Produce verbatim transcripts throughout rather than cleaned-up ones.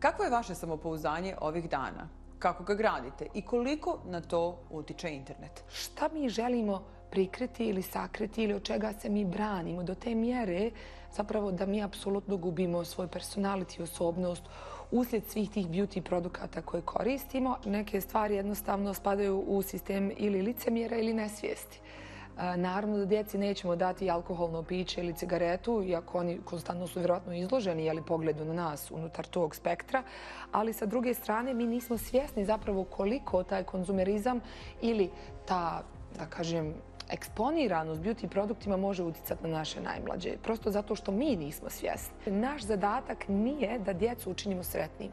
Kakvo je vaše samopouzdanje ovih dana? Kako ga gradite i koliko na to utiče internet? Šta mi želimo prikriti ili sakriti ili od čega se mi branimo do te mjere zapravo da mi apsolutno gubimo svoj personality, osobnost uslijed svih tih beauty produkata koje koristimo. Neke stvari jednostavno spadaju u sistem ili licemjera ili nesvijesti. Naravno da djeci nećemo dati alkoholno piće ili cigaretu, iako oni konstantno su vjerojatno izloženi jeli, pogledu na nas unutar tog spektra, ali sa druge strane mi nismo svjesni zapravo koliko taj konzumerizam ili ta, da kažem, eksponiranost beauty produktima može utjecati na naše najmlađe. Prosto zato što mi nismo svjesni. Naš zadatak nije da djecu učinimo sretnim.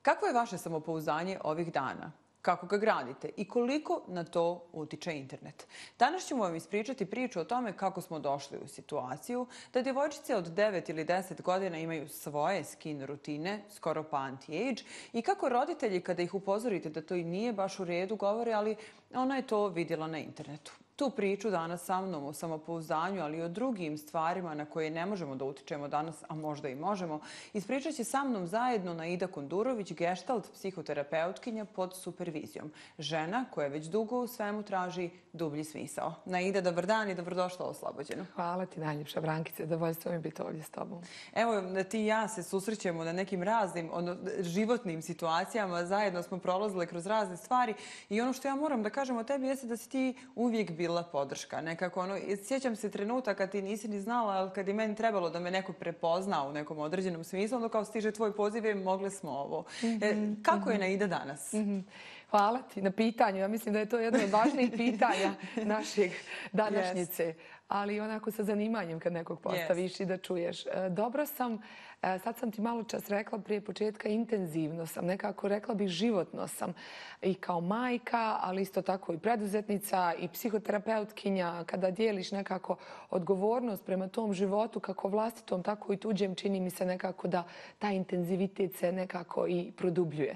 Kakvo je vaše samopouzdanje ovih dana? Kako ga gradite i koliko na to utiče internet? Danas ćemo vam ispričati priču o tome kako smo došli u situaciju da djevojčice od devet ili deset godina imaju svoje skin rutine, skoro pa anti-age, i kako roditelji kada ih upozorite da to i nije baš u redu govore, ali ona je to vidjela na internetu. Tu priču danas sa mnom o samopouzdanju, ali i o drugim stvarima na koje ne možemo da utičemo danas, a možda i možemo, ispričat će sa mnom zajedno Naida Kondurović, gestalt psihoterapeutkinja pod supervizijom. Žena koja već dugo u svemu traži dublji smisao. Naida, dobar dan i dobrodošla u Oslobođeno. Hvala ti najljepša, Brankice, zadovoljstvo mi biti ovdje s tobom. Evo, ti i ja se susrećemo na nekim raznim ono, životnim situacijama, zajedno smo prolazile kroz razne stvari i ono što ja moram da kažem o tebi jeste da si ti uvijek bila bila podrška. Nekako ono, sjećam se trenutaka kad ti nisi ni znala, ali kad je meni trebalo da me neko prepozna u nekom određenom smislu, onda kao stiže tvoj poziv i mogle smo ovo. Mm-hmm, e, kako mm-hmm. je Naida danas? Mm-hmm. Hvala ti na pitanju. Ja mislim da je to jedno od važnijih pitanja našeg današnjice. Yes. Ali onako sa zanimanjem kad nekog postaviš yes. i da čuješ. Dobro sam, sad sam ti malo čas rekla prije početka, intenzivno sam, nekako rekla bih životno sam i kao majka, ali isto tako i preduzetnica i psihoterapeutkinja. Kada dijeliš nekako odgovornost prema tom životu, kako vlastitom, tako i tuđem, čini mi se nekako da taj intenzivitet se nekako i produbljuje.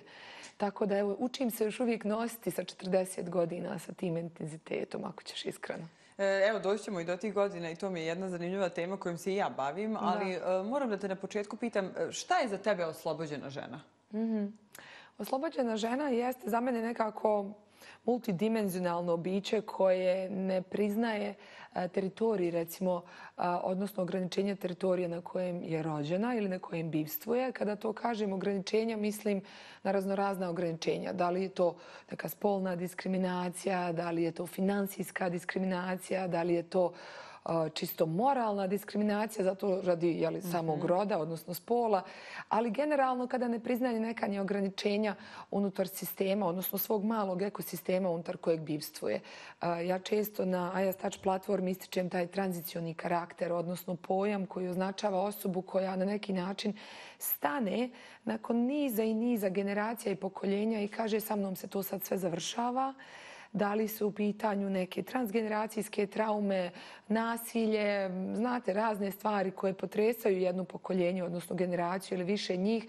Tako da evo, učim se još uvijek nositi sa četrdeset godina sa tim intenzitetom, ako ćeš iskreno. Evo, doći ćemo i do tih godina i to mi je jedna zanimljiva tema kojom se i ja bavim, ali da. moram da te na početku pitam, šta je za tebe oslobođena žena? Mm-hmm. Oslobođena žena jeste za mene nekako multidimenzionalno biće koje ne priznaje teritorij, recimo, odnosno ograničenje teritorija na kojem je rođena ili na kojem bivstvuje. Kada to kažem ograničenja, mislim na raznorazna ograničenja. Da li je to neka spolna diskriminacija, da li je to finansijska diskriminacija, da li je to čisto moralna diskriminacija, zato radi jeli, mm-hmm. samog roda, odnosno spola, ali generalno kada ne priznaje neka ni ograničenja unutar sistema, odnosno svog malog ekosistema unutar kojeg bivstvuje. Ja često na I A S Touch platformi ističem taj tranzicioni karakter, odnosno pojam koji označava osobu koja na neki način stane nakon niza i niza generacija i pokoljenja i kaže sa mnom se to sad sve završava. Da li su u pitanju neke transgeneracijske traume, nasilje, znate, razne stvari koje potresaju jedno pokoljenje, odnosno generaciju ili više njih.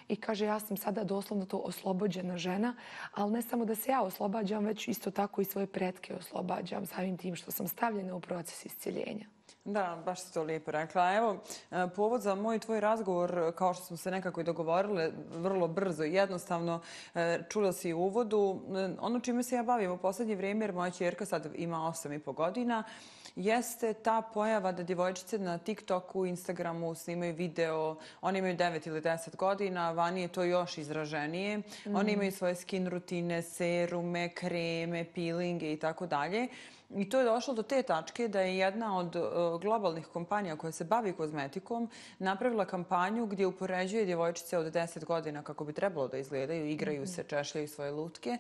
I kaže, ja sam sada doslovno to oslobođena žena, ali ne samo da se ja oslobađam, već isto tako i svoje pretke oslobađam samim tim što sam stavljena u proces iscjeljenja. Da, baš si to lijepo rekla. Evo, povod za moj tvoj razgovor, kao što smo se nekako i dogovorile, vrlo brzo i jednostavno, čula si u uvodu, ono čime se ja bavim u posljednje vrijeme, jer moja ćerka sad ima osam i po godina, jeste ta pojava da djevojčice na TikToku, Instagramu snimaju video, oni imaju devet ili deset godina, vani je to još izraženije. Mm. Oni imaju svoje skin rutine, serume, kreme, peelinge i tako dalje. I to je došlo do te tačke da je jedna od uh, globalnih kompanija koja se bavi kozmetikom napravila kampanju gdje upoređuje djevojčice od deset godina kako bi trebalo da izgledaju, igraju se, češljaju svoje lutke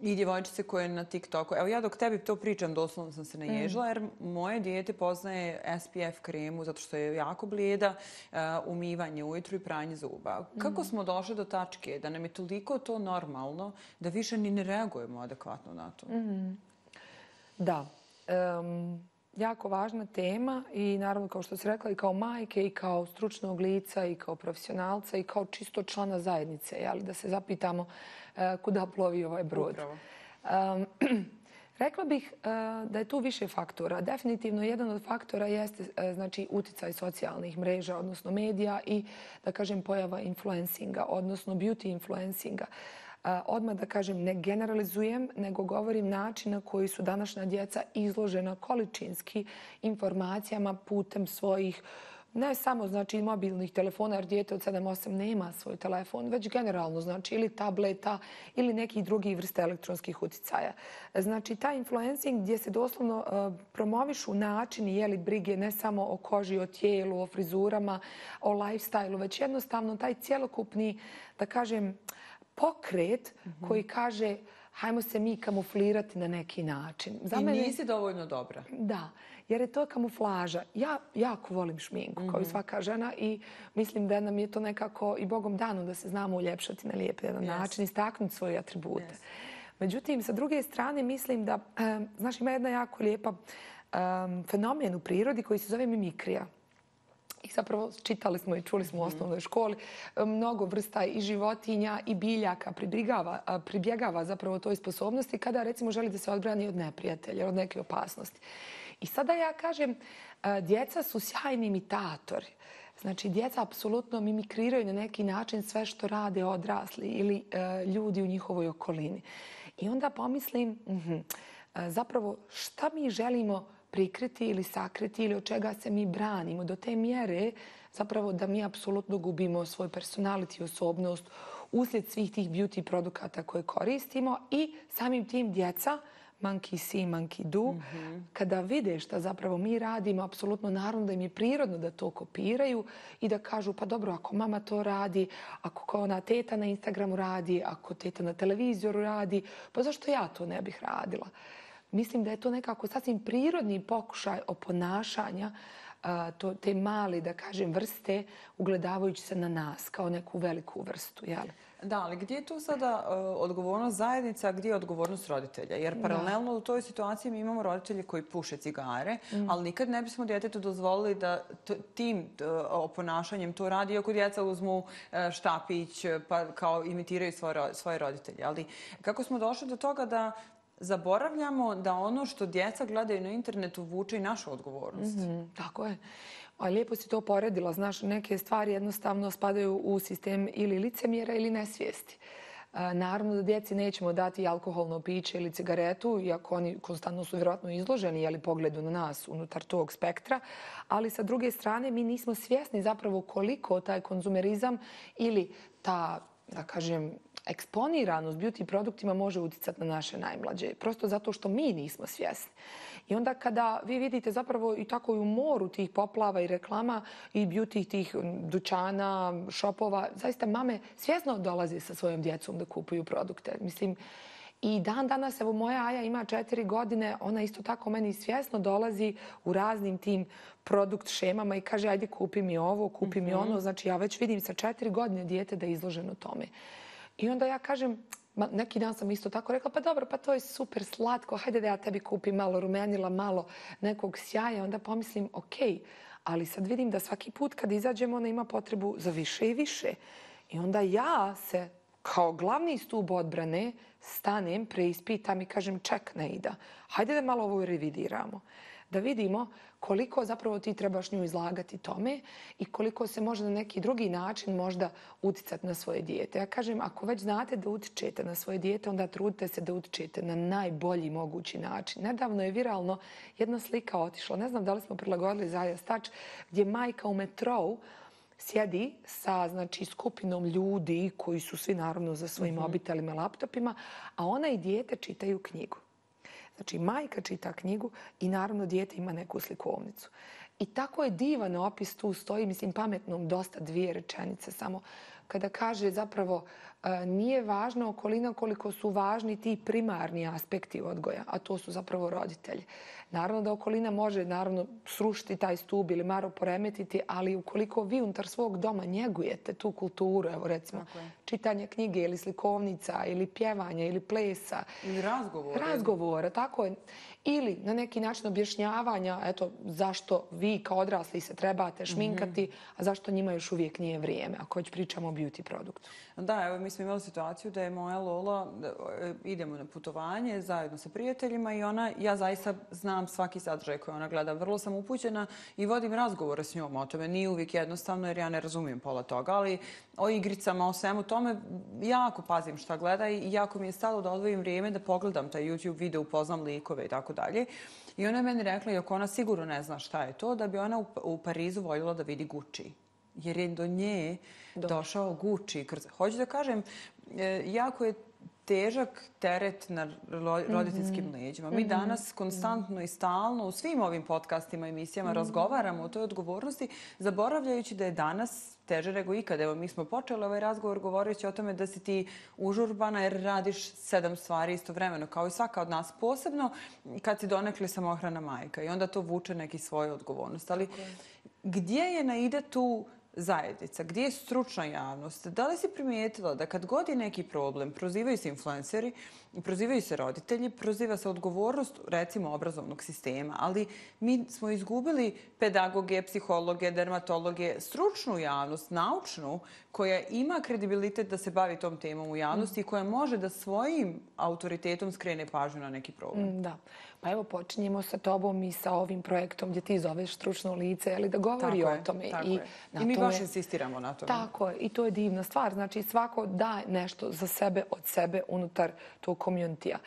i djevojčice koje na TikToku. Evo ja dok tebi to pričam, doslovno sam se naježila jer moje dijete poznaje S P F kremu zato što je jako blijeda, uh, umivanje ujutru i pranje zuba. Kako smo došli do tačke da nam je toliko to normalno da više ni ne reagujemo adekvatno na to? Mm. Da, um, jako važna tema i naravno kao što si rekla i kao majke i kao stručnog lica i kao profesionalca i kao čisto člana zajednice, jeli, da se zapitamo uh, kuda plovi ovaj brod. Upravo. Um, Rekla bih da je tu više faktora. Definitivno jedan od faktora jeste znači uticaj socijalnih mreža, odnosno medija i da kažem pojava influencinga, odnosno beauty influencinga. Odmah da kažem ne generalizujem, nego govorim način na koji su današnja djeca izložena količinski informacijama putem svojih ne samo znači mobilnih telefona, jer dijete od sedam osam nema svoj telefon, već generalno znači ili tableta ili nekih drugih vrsta elektronskih uticaja. Znači taj influencing gdje se doslovno uh, promovišu načini jeli brige ne samo o koži, o tijelu, o frizurama, o lifestyle-u, već jednostavno taj cjelokupni, da kažem, pokret mm-hmm. koji kaže hajmo se mi kamuflirati na neki način. Za I mene... nisi dovoljno dobra. Da, jer je to kamuflaža. Ja jako volim šminku, mm-hmm. kao i svaka žena i mislim da nam je to nekako i Bogom dano da se znamo uljepšati na lijep jedan yes. način, istaknuti svoje atribute. Yes. Međutim, sa druge strane mislim da, um, znaš, ima jedna jako lijepa um, fenomen u prirodi koji se zove mimikrija. I zapravo čitali smo i čuli smo u osnovnoj školi mnogo vrsta i životinja i biljaka pribjegava, pribjegava zapravo toj sposobnosti kada recimo želi da se odbrani od neprijatelja, od neke opasnosti. I sada ja kažem, djeca su sjajni imitatori. Znači, djeca apsolutno mimikriraju na neki način sve što rade odrasli ili e, ljudi u njihovoj okolini. I onda pomislim, mm-hmm, zapravo šta mi želimo prikriti ili sakriti ili od čega se mi branimo do te mjere zapravo da mi apsolutno gubimo svoj personality i osobnost uslijed svih tih beauty produkata koje koristimo i samim tim djeca, monkey see, monkey do, mm-hmm. kada vide šta zapravo mi radimo, apsolutno naravno da im je prirodno da to kopiraju i da kažu pa dobro, ako mama to radi, ako ona teta na Instagramu radi, ako teta na televizoru radi, pa zašto ja to ne bih radila? Mislim da je to nekako sasvim prirodni pokušaj oponašanja to, te male, da kažem, vrste ugledavajući se na nas kao neku veliku vrstu. Jel? Da, ali gdje je tu sada uh, odgovornost zajednica, a gdje je odgovornost roditelja? Jer paralelno da. u toj situaciji mi imamo roditelje koji puše cigare, mm. ali nikad ne bismo djetetu dozvolili da t- tim uh, oponašanjem to radi, iako djeca uzmu uh, štapić pa kao imitiraju svoje, svoje roditelje. Ali kako smo došli do toga da zaboravljamo da ono što djeca gledaju na internetu vuče i našu odgovornost. Mm-hmm, tako je. A lijepo si to poredila. Znaš, neke stvari jednostavno spadaju u sistem ili licemjera ili nesvijesti. E, naravno da djeci nećemo dati alkoholno piće ili cigaretu, iako oni konstantno su vjerojatno izloženi jeli, pogledu na nas unutar tog spektra. Ali sa druge strane mi nismo svjesni zapravo koliko taj konzumerizam ili ta, da kažem, eksponiranost beauty produktima može uticati na naše najmlađe. Prosto zato što mi nismo svjesni. I onda kada vi vidite zapravo i tako i u moru tih poplava i reklama i beauty tih dućana, šopova, zaista mame svjesno dolaze sa svojom djecom da kupuju produkte. Mislim, i dan danas, evo moja Aja ima četiri godine, ona isto tako meni svjesno dolazi u raznim tim produkt šemama i kaže ajde kupi mi ovo, kupi mm-hmm. mi ono. Znači ja već vidim sa četiri godine dijete da je izloženo tome. I onda ja kažem, neki dan sam isto tako rekla, pa dobro, pa to je super slatko, hajde da ja tebi kupim malo rumenila, malo nekog sjaja. Onda pomislim, ok, ali sad vidim da svaki put kad izađemo ona ima potrebu za više i više. I onda ja se kao glavni stup odbrane stanem, preispitam i kažem ček Neida, hajde da malo ovo revidiramo. Da vidimo koliko zapravo ti trebaš nju izlagati tome i koliko se može na neki drugi način možda uticati na svoje dijete. Ja kažem, ako već znate da utičete na svoje dijete, onda trudite se da utičete na najbolji mogući način. Nedavno je viralno jedna slika otišla, ne znam da li smo prilagodili Zaja Stač, gdje majka u metrou sjedi sa znači, skupinom ljudi koji su svi naravno za svojim mm-hmm. mobitelima i laptopima, a ona i dijete čitaju knjigu. Znači, majka čita knjigu i naravno dijete ima neku slikovnicu. I tako je divan opis tu stoji, mislim, pametnom dosta dvije rečenice samo kada kaže zapravo nije važna okolina koliko su važni ti primarni aspekti odgoja, a to su zapravo roditelji. Naravno da okolina može naravno srušiti taj stub ili malo poremetiti, ali ukoliko vi unutar svog doma njegujete tu kulturu, evo recimo čitanje knjige ili slikovnica ili pjevanja ili plesa. Ili razgovora. Razgovora, tako je. Ili na neki način objašnjavanja, eto, zašto vi kao odrasli se trebate šminkati, mm-hmm. a zašto njima još uvijek nije vrijeme, ako već pričamo o beauty produktu. Da, evo mi smo imali situaciju da je moja Lola, idemo na putovanje zajedno sa prijateljima i ona, ja zaista znam svaki sadržaj koji ona gleda. Vrlo sam upućena i vodim razgovore s njom o tome. Nije uvijek jednostavno jer ja ne razumijem pola toga, ali o igricama, o svemu tome jako pazim šta gleda i jako mi je stalo da odvojim vrijeme da pogledam taj YouTube video, upoznam likove i tako dalje. I ona je meni rekla, iako ona sigurno ne zna šta je to, da bi ona u Parizu voljela da vidi Gucci. Jer je do nje došao Gucci. Hoću da kažem, jako je težak teret na roditeljskim leđima. Mi danas konstantno i stalno u svim ovim podcastima i emisijama razgovaramo o toj odgovornosti, zaboravljajući da je danas teže nego ikad. Evo, mi smo počeli ovaj razgovor govoreći o tome da si ti užurbana jer radiš sedam stvari istovremeno, kao i svaka od nas, posebno kad si donekle samohrana majka i onda to vuče neki svoju odgovornost. Ali gdje je naide tu zajednica? Gdje je stručna javnost? Da li si primijetila da kad god je neki problem, prozivaju se influenceri, prozivaju se roditelji, proziva se odgovornost, recimo, obrazovnog sistema, ali mi smo izgubili pedagoge, psihologe, dermatologe, stručnu javnost, naučnu, koja ima kredibilitet da se bavi tom temom u javnosti i koja može da svojim autoritetom skrene pažnju na neki problem. Da. Pa evo, počinjemo sa tobom i sa ovim projektom gdje ti zoveš stručno lice, ali da govori o tome. Tako je. I mi baš insistiramo na tome. Tako je. I to je divna stvar. Znači, svako daje nešto za sebe, od sebe, unutar tog community-a.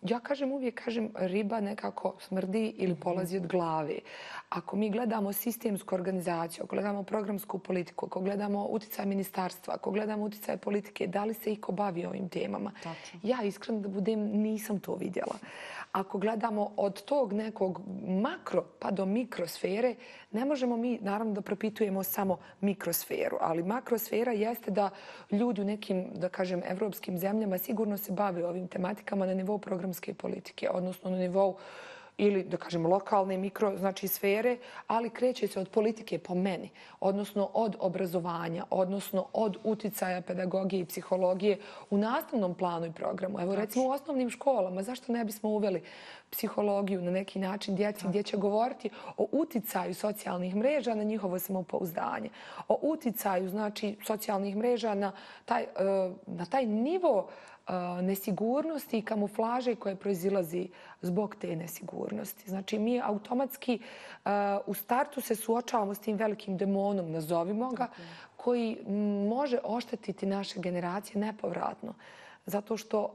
Ja kažem, uvijek kažem, riba nekako smrdi ili polazi od glave. Ako mi gledamo sistemsku organizaciju, ako gledamo programsku politiku, ako gledamo utjecaj ministarstva, ako gledamo utjecaj politike, da li se iko bavi ovim temama? Ja, iskreno da budem, nisam to vidjela. Ako gledamo od tog nekog makro pa do mikrosfere, ne možemo mi, naravno, da propitujemo samo mikrosferu, ali makrosfera jeste da ljudi u nekim, da kažem, evropskim zemljama sigurno se bave ovim tematikama na nivou programske politike, odnosno na nivou ili, da kažem, lokalne mikro, znači sfere, ali kreće se od politike po meni, odnosno od obrazovanja, odnosno od uticaja pedagogije i psihologije u nastavnom planu i programu. Evo, recimo u osnovnim školama, zašto ne bismo uveli psihologiju na neki način djeci gdje će govoriti o uticaju socijalnih mreža na njihovo samopouzdanje, o uticaju, znači, socijalnih mreža na taj, na taj nivo nesigurnosti i kamuflaže koje proizilazi zbog te nesigurnosti. Znači, mi automatski u startu se suočavamo s tim velikim demonom, nazovimo ga, koji može oštetiti naše generacije nepovratno. Zato što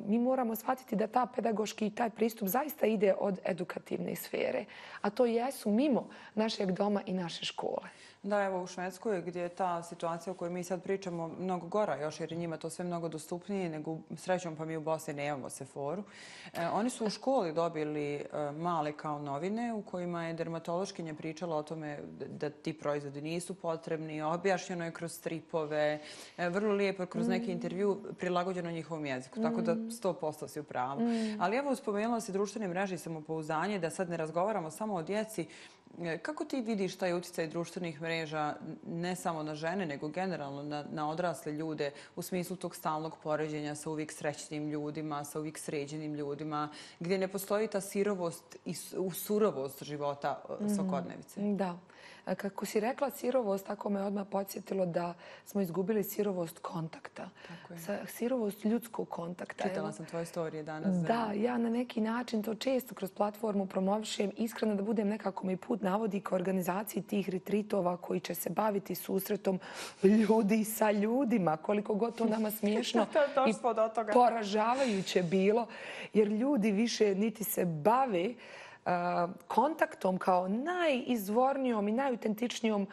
mi moramo shvatiti da ta pedagoški i taj pristup zaista ide od edukativne sfere. A to jesu mimo našeg doma i naše škole. Da, evo u Švedskoj gdje je ta situacija o kojoj mi sad pričamo mnogo gora još jer je njima to sve mnogo dostupnije nego srećom pa mi u Bosni nemamo seforu. E, oni su u školi dobili e, male kao novine u kojima je dermatološkinja pričala o tome da ti proizvodi nisu potrebni, objašnjeno je kroz stripove, e, vrlo lijepo kroz neki intervju prilagođeno njihovom jeziku, tako da sto posto si u pravu. Ali evo spomenula si društvene mreže i samopouzdanje, da sad ne razgovaramo samo o djeci. Kako ti vidiš taj utjecaj društvenih mreža ne samo na žene, nego generalno na, na odrasle ljude u smislu tog stalnog poređenja sa uvijek srećnim ljudima, sa uvijek sređenim ljudima, gdje ne postoji ta sirovost i surovost života svakodnevice? Da. Kako si rekla sirovost, tako me odmah podsjetilo da smo izgubili sirovost kontakta. Sirovost ljudskog kontakta. Čitala sam tvoje storije danas. Da, ja na neki način to često kroz platformu promovišem. Iskreno da budem, nekako mi put navodi ka organizaciji tih retritova koji će se baviti susretom ljudi sa ljudima. Koliko god to nama smiješno i poražavajuće bilo. Jer ljudi više niti se bave kontaktom kao najizvornijom i najutentičnijom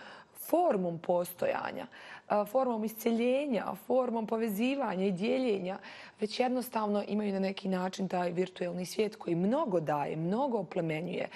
formom postojanja, formom isceljenja, formom povezivanja i dijeljenja, već jednostavno imaju na neki način taj virtualni svijet koji mnogo daje, mnogo oplemenjuje.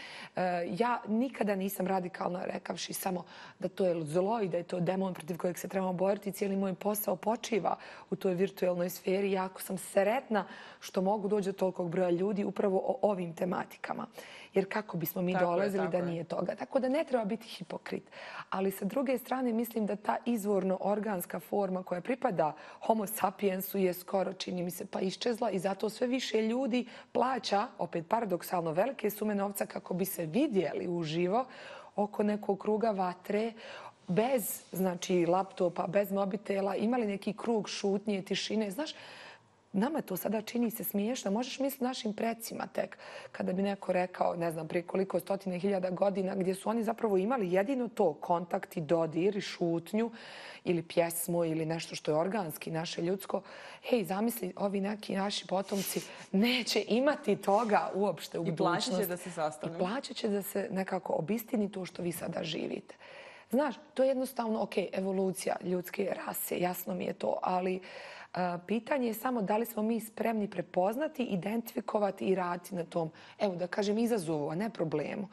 Ja nikada nisam radikalna rekavši samo da to je zlo i da je to demon protiv kojeg se trebamo boriti. Cijeli moj posao počiva u toj virtualnoj sferi. Jako sam sretna što mogu doći do tolikog broja ljudi upravo o ovim tematikama. Jer kako bismo mi dolazili da nije toga. Tako da ne treba biti hipokrit. Ali sa druge strane mislim da ta izvorno organska forma koja pripada homo sapiensu je skoro, čini mi se, pa iščezla i zato sve više ljudi plaća, opet paradoksalno, velike sume novca kako bi se vidjeli uživo oko nekog kruga vatre, bez, znači, laptopa, bez mobitela, imali neki krug šutnje, tišine. Znaš, nama to sada čini se smiješno. Možeš misliti našim precima tek. Kada bi neko rekao, ne znam, prije koliko stotine hiljada godina, gdje su oni zapravo imali jedino to, kontakt i dodir i šutnju ili pjesmu ili nešto što je organski, naše ljudsko. Hej, zamisli, ovi neki naši potomci neće imati toga uopšte u budućnosti. I plaćat će da se sastanu. I plaćat će da se nekako obistini to što vi sada živite. Znaš, to je jednostavno, ok, evolucija ljudske rase, jasno mi je to, ali uh, pitanje je samo da li smo mi spremni prepoznati, identifikovati i raditi na tom, evo da kažem, izazovu, a ne problemu.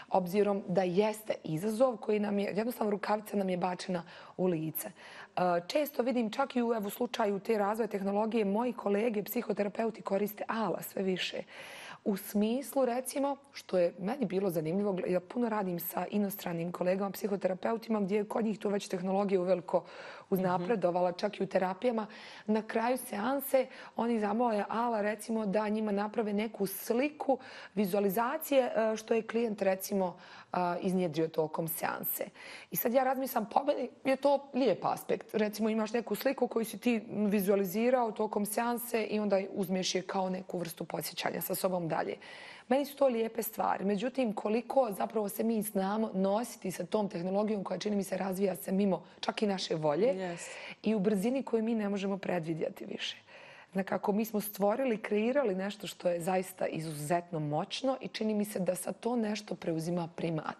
Obzirom da jeste izazov koji nam je, jednostavno rukavica nam je bačena u lice. Uh, često vidim čak i u evo, slučaju te razvoja tehnologije, moji kolege, psihoterapeuti koriste ala sve više. U smislu, recimo, što je meni bilo zanimljivo, ja puno radim sa inostranim kolegama, psihoterapeutima, gdje je kod njih to već tehnologija uveliko uznapredovala, čak i u terapijama. Na kraju seanse oni zamole ala, recimo, da njima naprave neku sliku vizualizacije što je klijent, recimo, iznjedrio tokom seanse. I sad ja razmislam, po meni je to lijep aspekt. Recimo, imaš neku sliku koju si ti vizualizirao tokom seanse i onda uzmeš je kao neku vrstu podsjećanja sa sobom dalje. Meni su to lijepe stvari. Međutim, koliko zapravo se mi znamo nositi sa tom tehnologijom koja, čini mi se, razvija se mimo čak i naše volje yes. i u brzini koju mi ne možemo predvidjeti više. Nekako mi smo stvorili, kreirali nešto što je zaista izuzetno moćno i čini mi se da sa to nešto preuzima primat.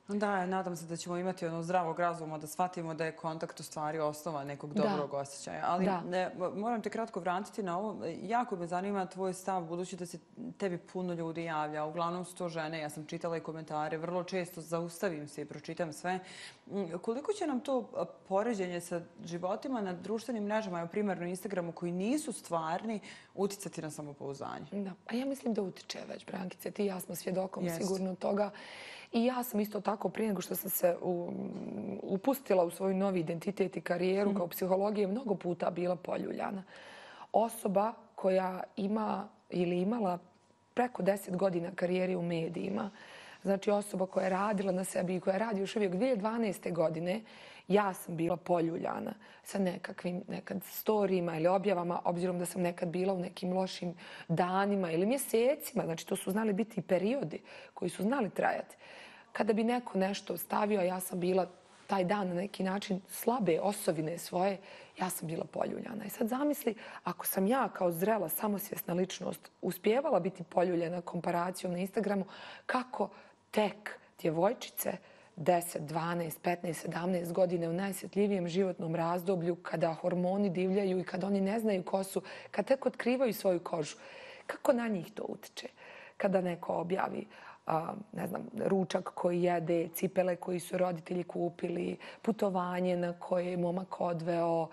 Da, nadam se da ćemo imati ono zdravog razuma, da shvatimo da je kontakt u stvari osnova nekog dobrog da. osjećaja. Ali ne, moram te kratko vratiti na ovo. Jako me zanima tvoj stav, budući da se tebi puno ljudi javlja. Uglavnom su to žene, ja sam čitala i komentare, vrlo često zaustavim se i pročitam sve. Koliko će nam to poređenje sa životima na društvenim mrežama, evo primarno Instagramu, koji nisu stvarni, uticati na samopouzdanje? Da, a ja mislim da utiče već, Brankice. Ti i ja smo svjedokom Jest. sigurno toga. I ja sam isto tako, prije nego što sam se u, upustila u svoj novi identitet i karijeru mm. kao psihologije, mnogo puta bila poljuljana. Osoba koja ima ili imala preko deset godina karijere u medijima, znači osoba koja je radila na sebi i koja radi još uvijek dvije tisuće dvanaeste. godine, ja sam bila poljuljana sa nekakvim nekad storijima ili objavama, obzirom da sam nekad bila u nekim lošim danima ili mjesecima. Znači, to su znali biti periodi koji su znali trajati. Kada bi neko nešto stavio, a ja sam bila taj dan na neki način slabe osovine svoje, ja sam bila poljuljana. I sad zamisli, ako sam ja kao zrela, samosvjesna ličnost uspijevala biti poljuljena komparacijom na Instagramu, kako tek djevojčice deset, dvanaest, petnaest, sedamnaest godine u najsjetljivijem životnom razdoblju, kada hormoni divljaju i kada oni ne znaju ko su, kad tek otkrivaju svoju kožu, kako na njih to utiče? Kada neko objavi A, ne znam, ručak koji jede, cipele koji su roditelji kupili, putovanje na koje je momak odveo.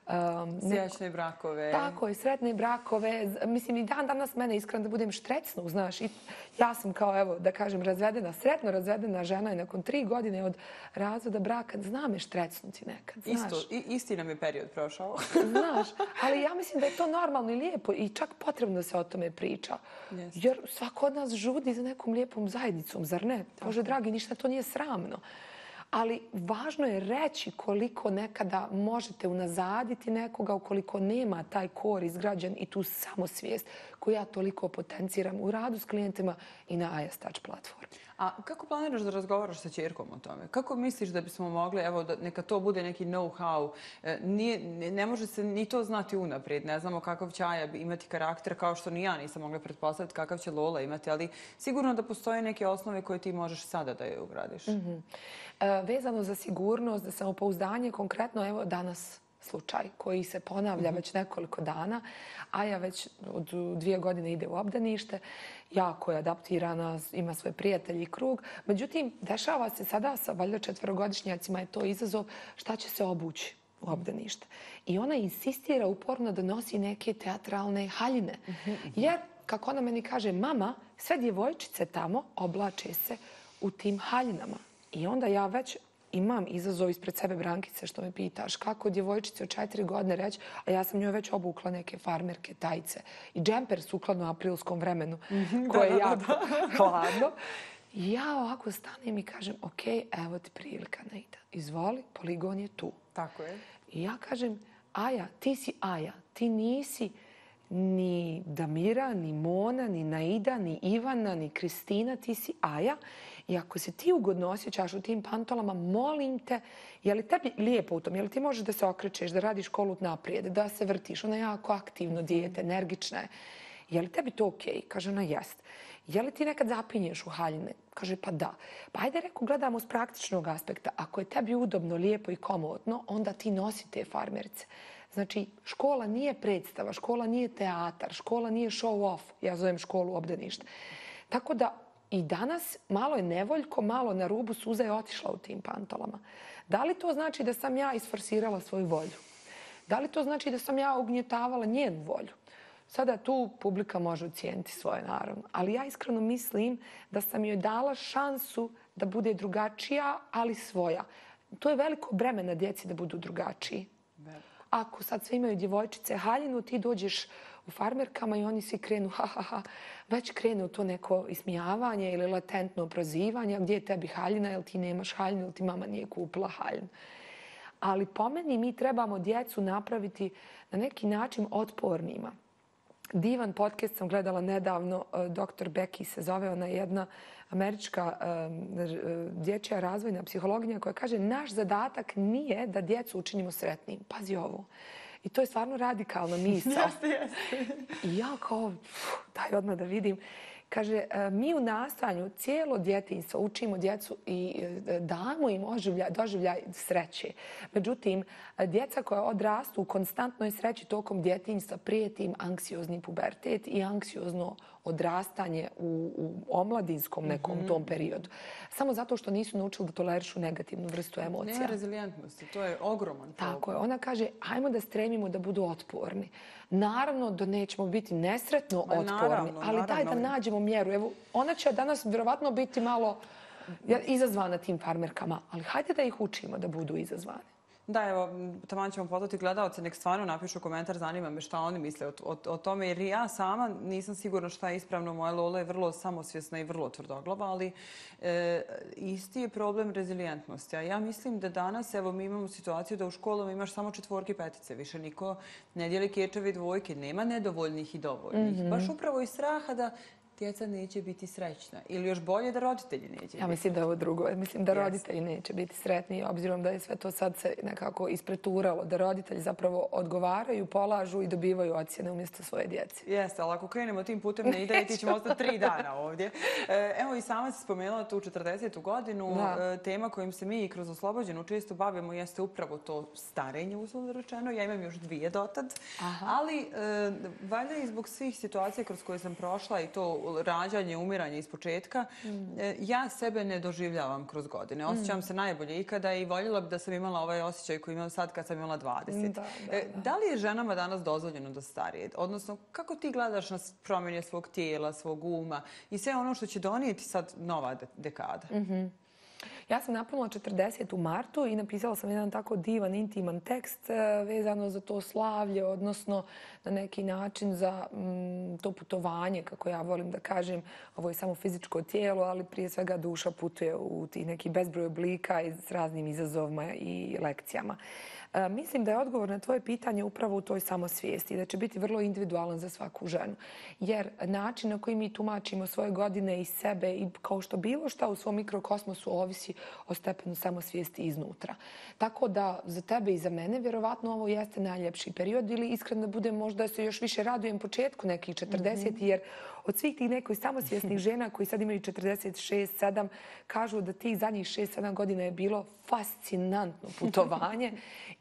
Um, Srećne brakove. Tako je, sretne brakove. Mislim, i dan danas mene iskreno da budem štrecnu, znaš. I ja sam kao, evo, da kažem, razvedena, sretno razvedena žena i nakon tri godine od razvoda braka, zna me štrecnuti nekad, znaš. Isto, i, isti nam je period prošao. Znaš, ali ja mislim da je to normalno i lijepo i čak potrebno da se o tome priča. Yes. Jer svako od nas žudi za nekom lijepom zajednicom, zar ne? Bože dragi, ništa to nije sramno. Ali važno je reći koliko nekada možete unazaditi nekoga ukoliko nema taj kor izgrađen i tu samosvijest koju ja toliko potenciram u radu s klijentima i na A S Touch platformi. A kako planiraš da razgovaraš sa ćerkom o tome? Kako misliš da bismo mogli, evo, da neka to bude neki know-how? Nije, ne može se ni to znati unaprijed. Ne znamo kakav će Aja imati karakter, kao što ni ja nisam mogla pretpostaviti kakav će Lola imati, ali sigurno da postoje neke osnove koje ti možeš sada da je ugradiš. Mm-hmm. E, vezano za sigurnost, za samopouzdanje, konkretno, evo danas slučaj koji se ponavlja mm-hmm. već nekoliko dana. Aja već od dvije godine ide u obdanište, jako je adaptirana, ima svoje prijatelje i krug. Međutim, dešava se sada sa valjda četverogodišnjacima je to izazov šta će se obući u obdanište. I ona insistira uporno da nosi neke teatralne haljine. Mm-hmm. Jer, kako ona meni kaže, mama, sve djevojčice tamo oblače se u tim haljinama. I onda ja već imam izazov ispred sebe, Brankice, što me pitaš kako djevojčice od četiri godine reći, a ja sam njoj već obukla neke farmerke, tajce i džemper sukladno aprilskom vremenu koje je jako hladno. I ja ovako stanem i kažem, ok, evo ti prilika, Naida. Izvoli, poligon je tu. Tako je. I ja kažem, Aja, ti si Aja. Ti nisi ni Damira, ni Mona, ni Naida, ni Ivana, ni Kristina. Ti si Aja. I ako se ti ugodno osjećaš u tim pantolama, molim te, je li tebi lijepo u tom? Je li ti možeš da se okrećeš, da radiš kolut naprijed, da se vrtiš? Ona je jako aktivno dijete, energična je. Je li tebi to okej? Kaže ona, jest. Je li ti nekad zapinješ u haljine? Kaže, pa da. Pa ajde, reku, gledamo s praktičnog aspekta. Ako je tebi udobno, lijepo i komodno, onda ti nosi te farmerce. Znači, škola nije predstava, škola nije teatar, škola nije show off. Ja zovem školu obdanište. Tako da i danas malo je nevoljko, malo na rubu suza je otišla u tim pantolama. Da li to znači da sam ja isforsirala svoju volju? Da li to znači da sam ja ugnjetavala njenu volju? Sada tu publika može ocijeniti svoje, naravno. Ali ja iskreno mislim da sam joj dala šansu da bude drugačija, ali svoja. To je veliko breme na djeci da budu drugačiji. Ako sad sve imaju djevojčice haljinu, ti dođeš u farmerkama i oni svi krenu, ha, ha, ha, već krenu to neko ismijavanje ili latentno prozivanje, gdje je tebi haljina, jel ti nemaš haljinu, ili ti mama nije kupila haljinu. Ali po meni mi trebamo djecu napraviti na neki način otpornima. Divan podcast sam gledala nedavno, doktor Becky se zove, ona je jedna američka dječja razvojna psihologinja koja kaže naš zadatak nije da djecu učinimo sretnim. Pazi ovo. I to je stvarno radikalna misao. Jeste, jeste. I ja kao, daj odmah da vidim. Kaže, mi u nastanju cijelo djetinjstvo učimo djecu i damo im doživljaj sreće. Međutim, djeca koja odrastu u konstantnoj sreći tokom djetinjstva prijeti im anksiozni pubertet i anksiozno odrastanje u, u omladinskom nekom tom periodu. Samo zato što nisu naučili da tolerišu negativnu vrstu emocija. Nema rezilijentnosti, to je ogroman problem. Tako je. Ona kaže, ajmo da stremimo da budu otporni. Naravno da nećemo biti nesretno Ma, otporni, naravno, ali daj naravno. da nađemo mjeru. Evo, ona će danas vjerovatno biti malo izazvana tim farmerkama, ali hajde da ih učimo da budu izazvane. Da, evo, taman ćemo pozvati gledalce, nek stvarno napišu komentar, zanima me šta oni misle o, o, o tome, jer ja sama nisam sigurna šta je ispravno. Moja Lola je vrlo samosvjesna i vrlo tvrdoglava, ali e, isti je problem rezilijentnosti. A ja mislim da danas, evo, mi imamo situaciju da u školama imaš samo četvorke i petice. Više niko ne dijeli kečeve i dvojke. Nema nedovoljnih i dovoljnih. Mm-hmm. Baš upravo iz straha da djeca neće biti srećna. Ili još bolje da roditelji neće biti. Ja mislim da je ovo drugo. Mislim da roditelji neće biti sretni, obzirom da je sve to sad se nekako ispreturalo. Da roditelji zapravo odgovaraju, polažu i dobivaju ocjene umjesto svoje djece. Jeste, ali ako krenemo tim putem ne ide i ti ćemo ostati tri dana ovdje. Evo i sama si spomenula tu četrdesetu godinu. Da. Tema kojim se mi kroz Oslobođenu često bavimo jeste upravo to starenje, uslovno rečeno. Ja imam još dvije dotad. Aha. Ali valjda i zbog svih situacija kroz koje sam prošla i to rađanje, umiranje iz početka, mm. ja sebe ne doživljavam kroz godine. Osjećam mm. se najbolje ikada i voljela bi da sam imala ovaj osjećaj koji imam sad kad sam imala dvadeset. Da, da, da. Da li je ženama danas dozvoljeno da starije? Odnosno, kako ti gledaš na promjene svog tijela, svog uma i sve ono što će donijeti sad nova dekada? Mm-hmm. Ja sam napunila četrdeset u martu i napisala sam jedan tako divan, intiman tekst vezano za to slavlje, odnosno na neki način za mm, to putovanje, kako ja volim da kažem. Ovo je samo fizičko tijelo, ali prije svega duša putuje u tih neki bezbroj oblika i s raznim izazovima i lekcijama. E, mislim da je odgovor na tvoje pitanje upravo u toj samosvijesti, da će biti vrlo individualan za svaku ženu. Jer način na koji mi tumačimo svoje godine i sebe i kao što bilo šta u svom mikrokosmosu ovisi o stepenu samosvijesti iznutra. Tako da za tebe i za mene vjerovatno ovo jeste najljepši period ili iskreno da budem možda se još više radujem početku nekih četrdeset mm-hmm. jer od svih tih nekih samosvjesnih žena koji sad imaju četrdeset šest sedam kažu da tih zadnjih šest sedam godina je bilo fascinantno putovanje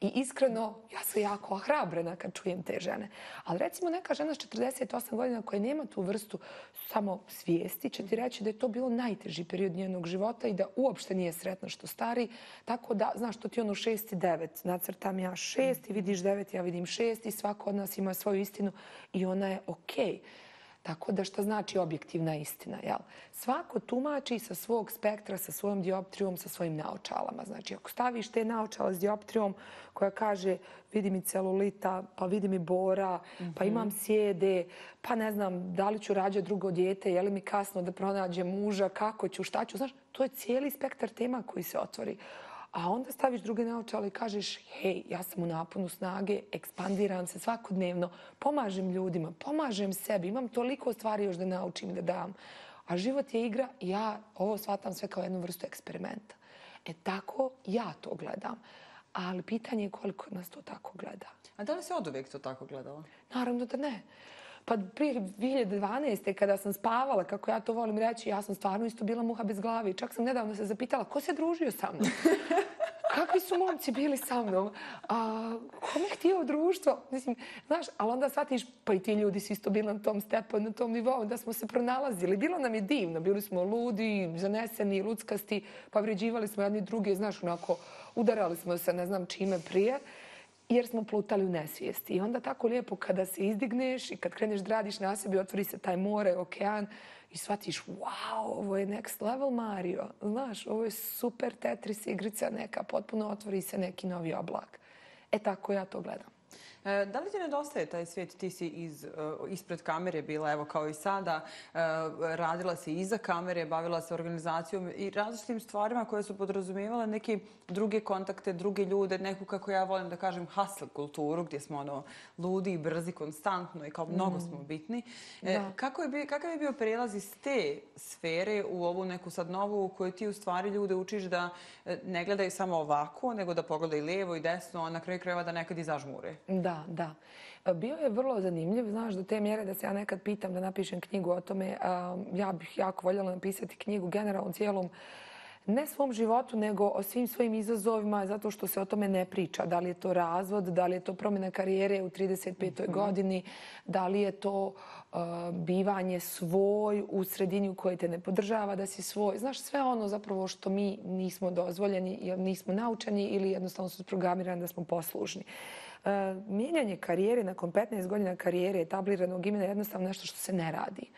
i iskreno ja sam jako ohrabrena kad čujem te žene. Ali recimo neka žena s četrdeset osam godina koja nema tu vrstu samo svijesti će ti reći da je to bilo najteži period njenog života i da uopšte nije sretna što stari. Tako da, znaš, to ti ono šest i devet. Nacrtam ja šest i vidiš devet, ja vidim šest i svako od nas ima svoju istinu i ona je okej. Tako da šta znači objektivna istina, jel? Svako tumači sa svog spektra, sa svojom dioptrijom, sa svojim naočalama. Znači, ako staviš te naočala s dioptrijom koja kaže vidi mi celulita, pa vidi mi bora, pa imam sjede, pa ne znam da li ću rađati drugo dijete, je li mi kasno da pronađem muža, kako ću, šta ću, znaš, to je cijeli spektar tema koji se otvori. A onda staviš druge naočale i kažeš hej, ja sam u naponu snage, ekspandiram se svakodnevno, pomažem ljudima, pomažem sebi, imam toliko stvari još da naučim da dam. A život je igra i ja ovo shvatam sve kao jednu vrstu eksperimenta. E tako ja to gledam. Ali pitanje je koliko nas to tako gleda. A da li se od uvijek to tako gledala? Naravno da ne. Pa prije dvije hiljade dvanaeste. kada sam spavala, kako ja to volim reći, ja sam stvarno isto bila muha bez glavi. Čak sam nedavno se zapitala ko se družio sa mnom. Kakvi su momci bili sa mnom? A, kome je htio društvo? Mislim, znaš, ali onda shvatiš, pa i ti ljudi su isto bili na tom stepenu, na tom nivou, da smo se pronalazili. Bilo nam je divno, bili smo ludi, zaneseni, luckasti, povređivali smo jedni druge, znaš, onako, udarali smo se ne znam čime prije, jer smo plutali u nesvijesti. I onda tako lijepo kada se izdigneš i kad kreneš da radiš na sebi, otvori se taj more, okean i shvatiš, wow, ovo je next level Mario. Znaš, ovo je super Tetris igrica neka, potpuno otvori se neki novi oblak. E tako ja to gledam. E, da li ti nedostaje taj svijet? Ti si iz, uh, ispred kamere bila, evo kao i sada, uh, radila si iza kamere, bavila se organizacijom i različitim stvarima koje su podrazumijevale neke druge kontakte, druge ljude, neku, kako ja volim da kažem, hustle kulturu, gdje smo ono ludi i brzi konstantno i kao mnogo smo bitni. E, kako je bio, kakav je bio prijelaz iz te sfere u ovu neku sad novu u kojoj ti u stvari ljude učiš da ne gledaju samo ovako, nego da pogledaju lijevo i desno, a na kraju krajeva da nekad i zažmure? Da, da. Bio je vrlo zanimljiv, znaš, do te mjere da se ja nekad pitam da napišem knjigu o tome. Ja bih jako voljela napisati knjigu generalno cijelom, ne svom životu, nego o svim svojim izazovima, zato što se o tome ne priča. Da li je to razvod, da li je to promjena karijere u trideset petoj godini, da li je to uh, bivanje svoj u sredini u kojoj te ne podržava da si svoj. Znaš, sve ono zapravo što mi nismo dozvoljeni, jer nismo naučeni ili jednostavno su programirani da smo poslušni. Uh, mijenjanje karijere nakon petnaest godina karijere etabliranog imena je jednostavno nešto što se ne radi.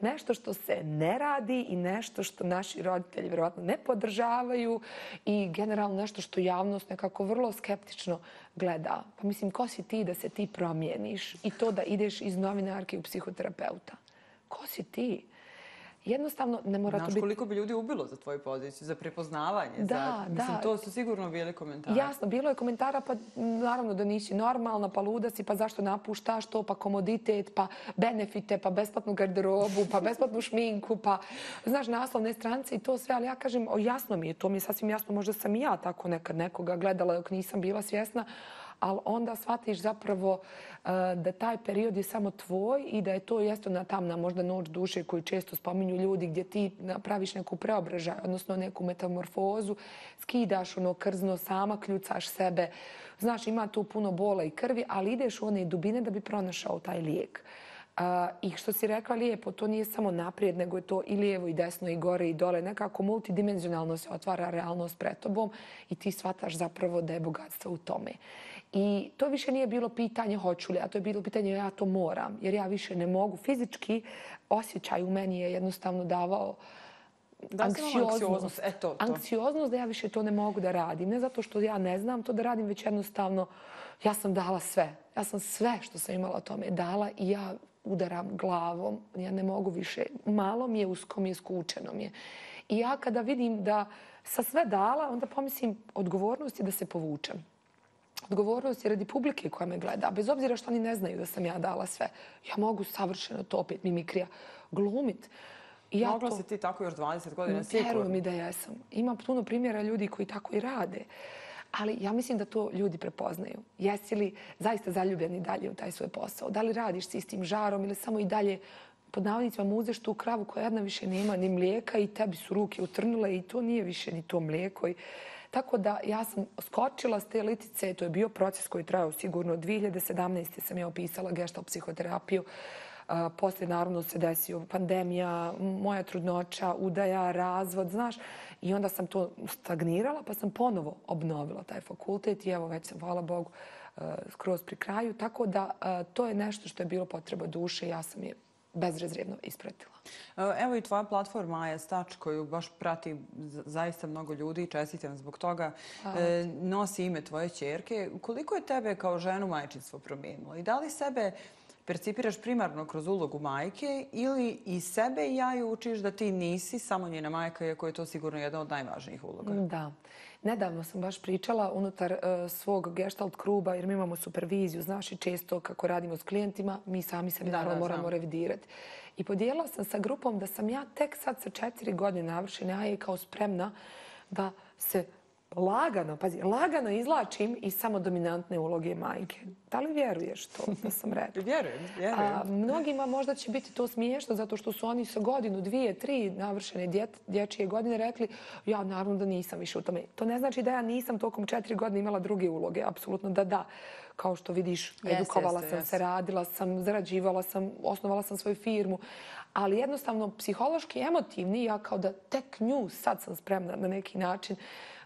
Nešto što se ne radi i nešto što naši roditelji vjerovatno ne podržavaju i generalno nešto što javnost nekako vrlo skeptično gleda. Pa mislim, ko si ti da se ti promijeniš i to da ideš iz novinarke u psihoterapeuta? Ko si ti? Jednostavno ne mora to biti... Znaš koliko bi ljudi ubilo za tvoju poziciju, za prepoznavanje? Da, za... Mislim, da. to su sigurno bili komentari. Jasno, bilo je komentara, pa naravno da nisi normalna, pa luda si, pa zašto napuštaš to, pa komoditet, pa benefite, pa besplatnu garderobu, pa besplatnu šminku, pa znaš, naslovne stranice i to sve, ali ja kažem, o, jasno mi je, to mi je sasvim jasno, možda sam i ja tako nekad nekoga gledala dok nisam bila svjesna, ali onda shvatiš zapravo uh, da taj period je samo tvoj i da je to jesto na tamna možda noć duše koju često spominju ljudi gdje ti napraviš neku preobražaj, odnosno neku metamorfozu, skidaš ono krzno, sama kljucaš sebe. Znaš, ima tu puno bola i krvi, ali ideš u one dubine da bi pronašao taj lijek. Uh, I što si rekla lijepo, to nije samo naprijed, nego je to i lijevo i desno i gore i dole. Nekako multidimenzionalno se otvara realnost pred tobom i ti shvataš zapravo da je bogatstvo u tome. I to više nije bilo pitanje hoću li, a to je bilo pitanje ja to moram, jer ja više ne mogu. Fizički osjećaj u meni je jednostavno davao da anksioznost. E, to, to. Anksioznost da ja više to ne mogu da radim. Ne zato što ja ne znam to da radim, već jednostavno ja sam dala sve. Ja sam sve što sam imala o tome dala i ja udaram glavom. Ja ne mogu više. Malo mi je, usko mi je, skučeno mi je. I ja kada vidim da sam sve dala, onda pomislim odgovornost je da se povučem. Odgovornost je radi publike koja me gleda. Bez obzira što oni ne znaju da sam ja dala sve. Ja mogu savršeno to opet mimikrija glumit. I ja Mogla to... si ti tako još dvadeset godina sigurno. Vjeruj mi da jesam. Ima puno primjera ljudi koji tako i rade. Ali ja mislim da to ljudi prepoznaju. Jesi li zaista zaljubljeni dalje u taj svoj posao? Da li radiš s istim žarom ili samo i dalje pod navodnicima muzeš tu kravu koja jedna više nema ni mlijeka i tebi su ruke utrnule i to nije više ni to mlijeko. I... Tako da ja sam skočila s te litice, to je bio proces koji trajao sigurno. dvije hiljade sedamnaeste. sam ja opisala gestalt psihoterapiju. Uh, poslije naravno se desio pandemija, moja trudnoća, udaja, razvod, znaš. I onda sam to stagnirala pa sam ponovo obnovila taj fakultet i evo već sam, hvala Bogu, uh, skroz pri kraju. Tako da uh, to je nešto što je bilo potreba duše. Ja sam je bezrezervno ispratila. Evo i tvoja platforma Aja Stač, koju baš prati zaista mnogo ljudi i čestitam zbog toga, nosi ime tvoje ćerke. Koliko je tebe kao ženu majčinstvo promijenilo? I da li sebe percipiraš primarno kroz ulogu majke ili i sebe i Jaju učiš da ti nisi samo njena majka, iako je to sigurno jedna od najvažnijih uloga? Da. Nedavno sam baš pričala unutar uh, svog gestalt kruba, jer mi imamo superviziju, znaš i često kako radimo s klijentima, mi sami sebi naravno moramo revidirati. I podijelila sam sa grupom da sam ja tek sad sa četiri godine navršene Aje kao spremna da se lagano, pazi, lagano izlačim iz samodominantne uloge majke. Da li vjeruješ to da sam rekla? Vjerujem, vjerujem. A, mnogima možda će biti to smiješno zato što su oni sa godinu, dvije, tri navršene djet, dječje godine rekli ja naravno da nisam više u tome. To ne znači da ja nisam tokom četiri godine imala druge uloge. Apsolutno da da. Kao što vidiš, edukovala sam se, radila sam, zarađivala sam, osnovala sam svoju firmu. Ali jednostavno, psihološki, emotivni, ja kao da tek nju sad sam spremna na neki način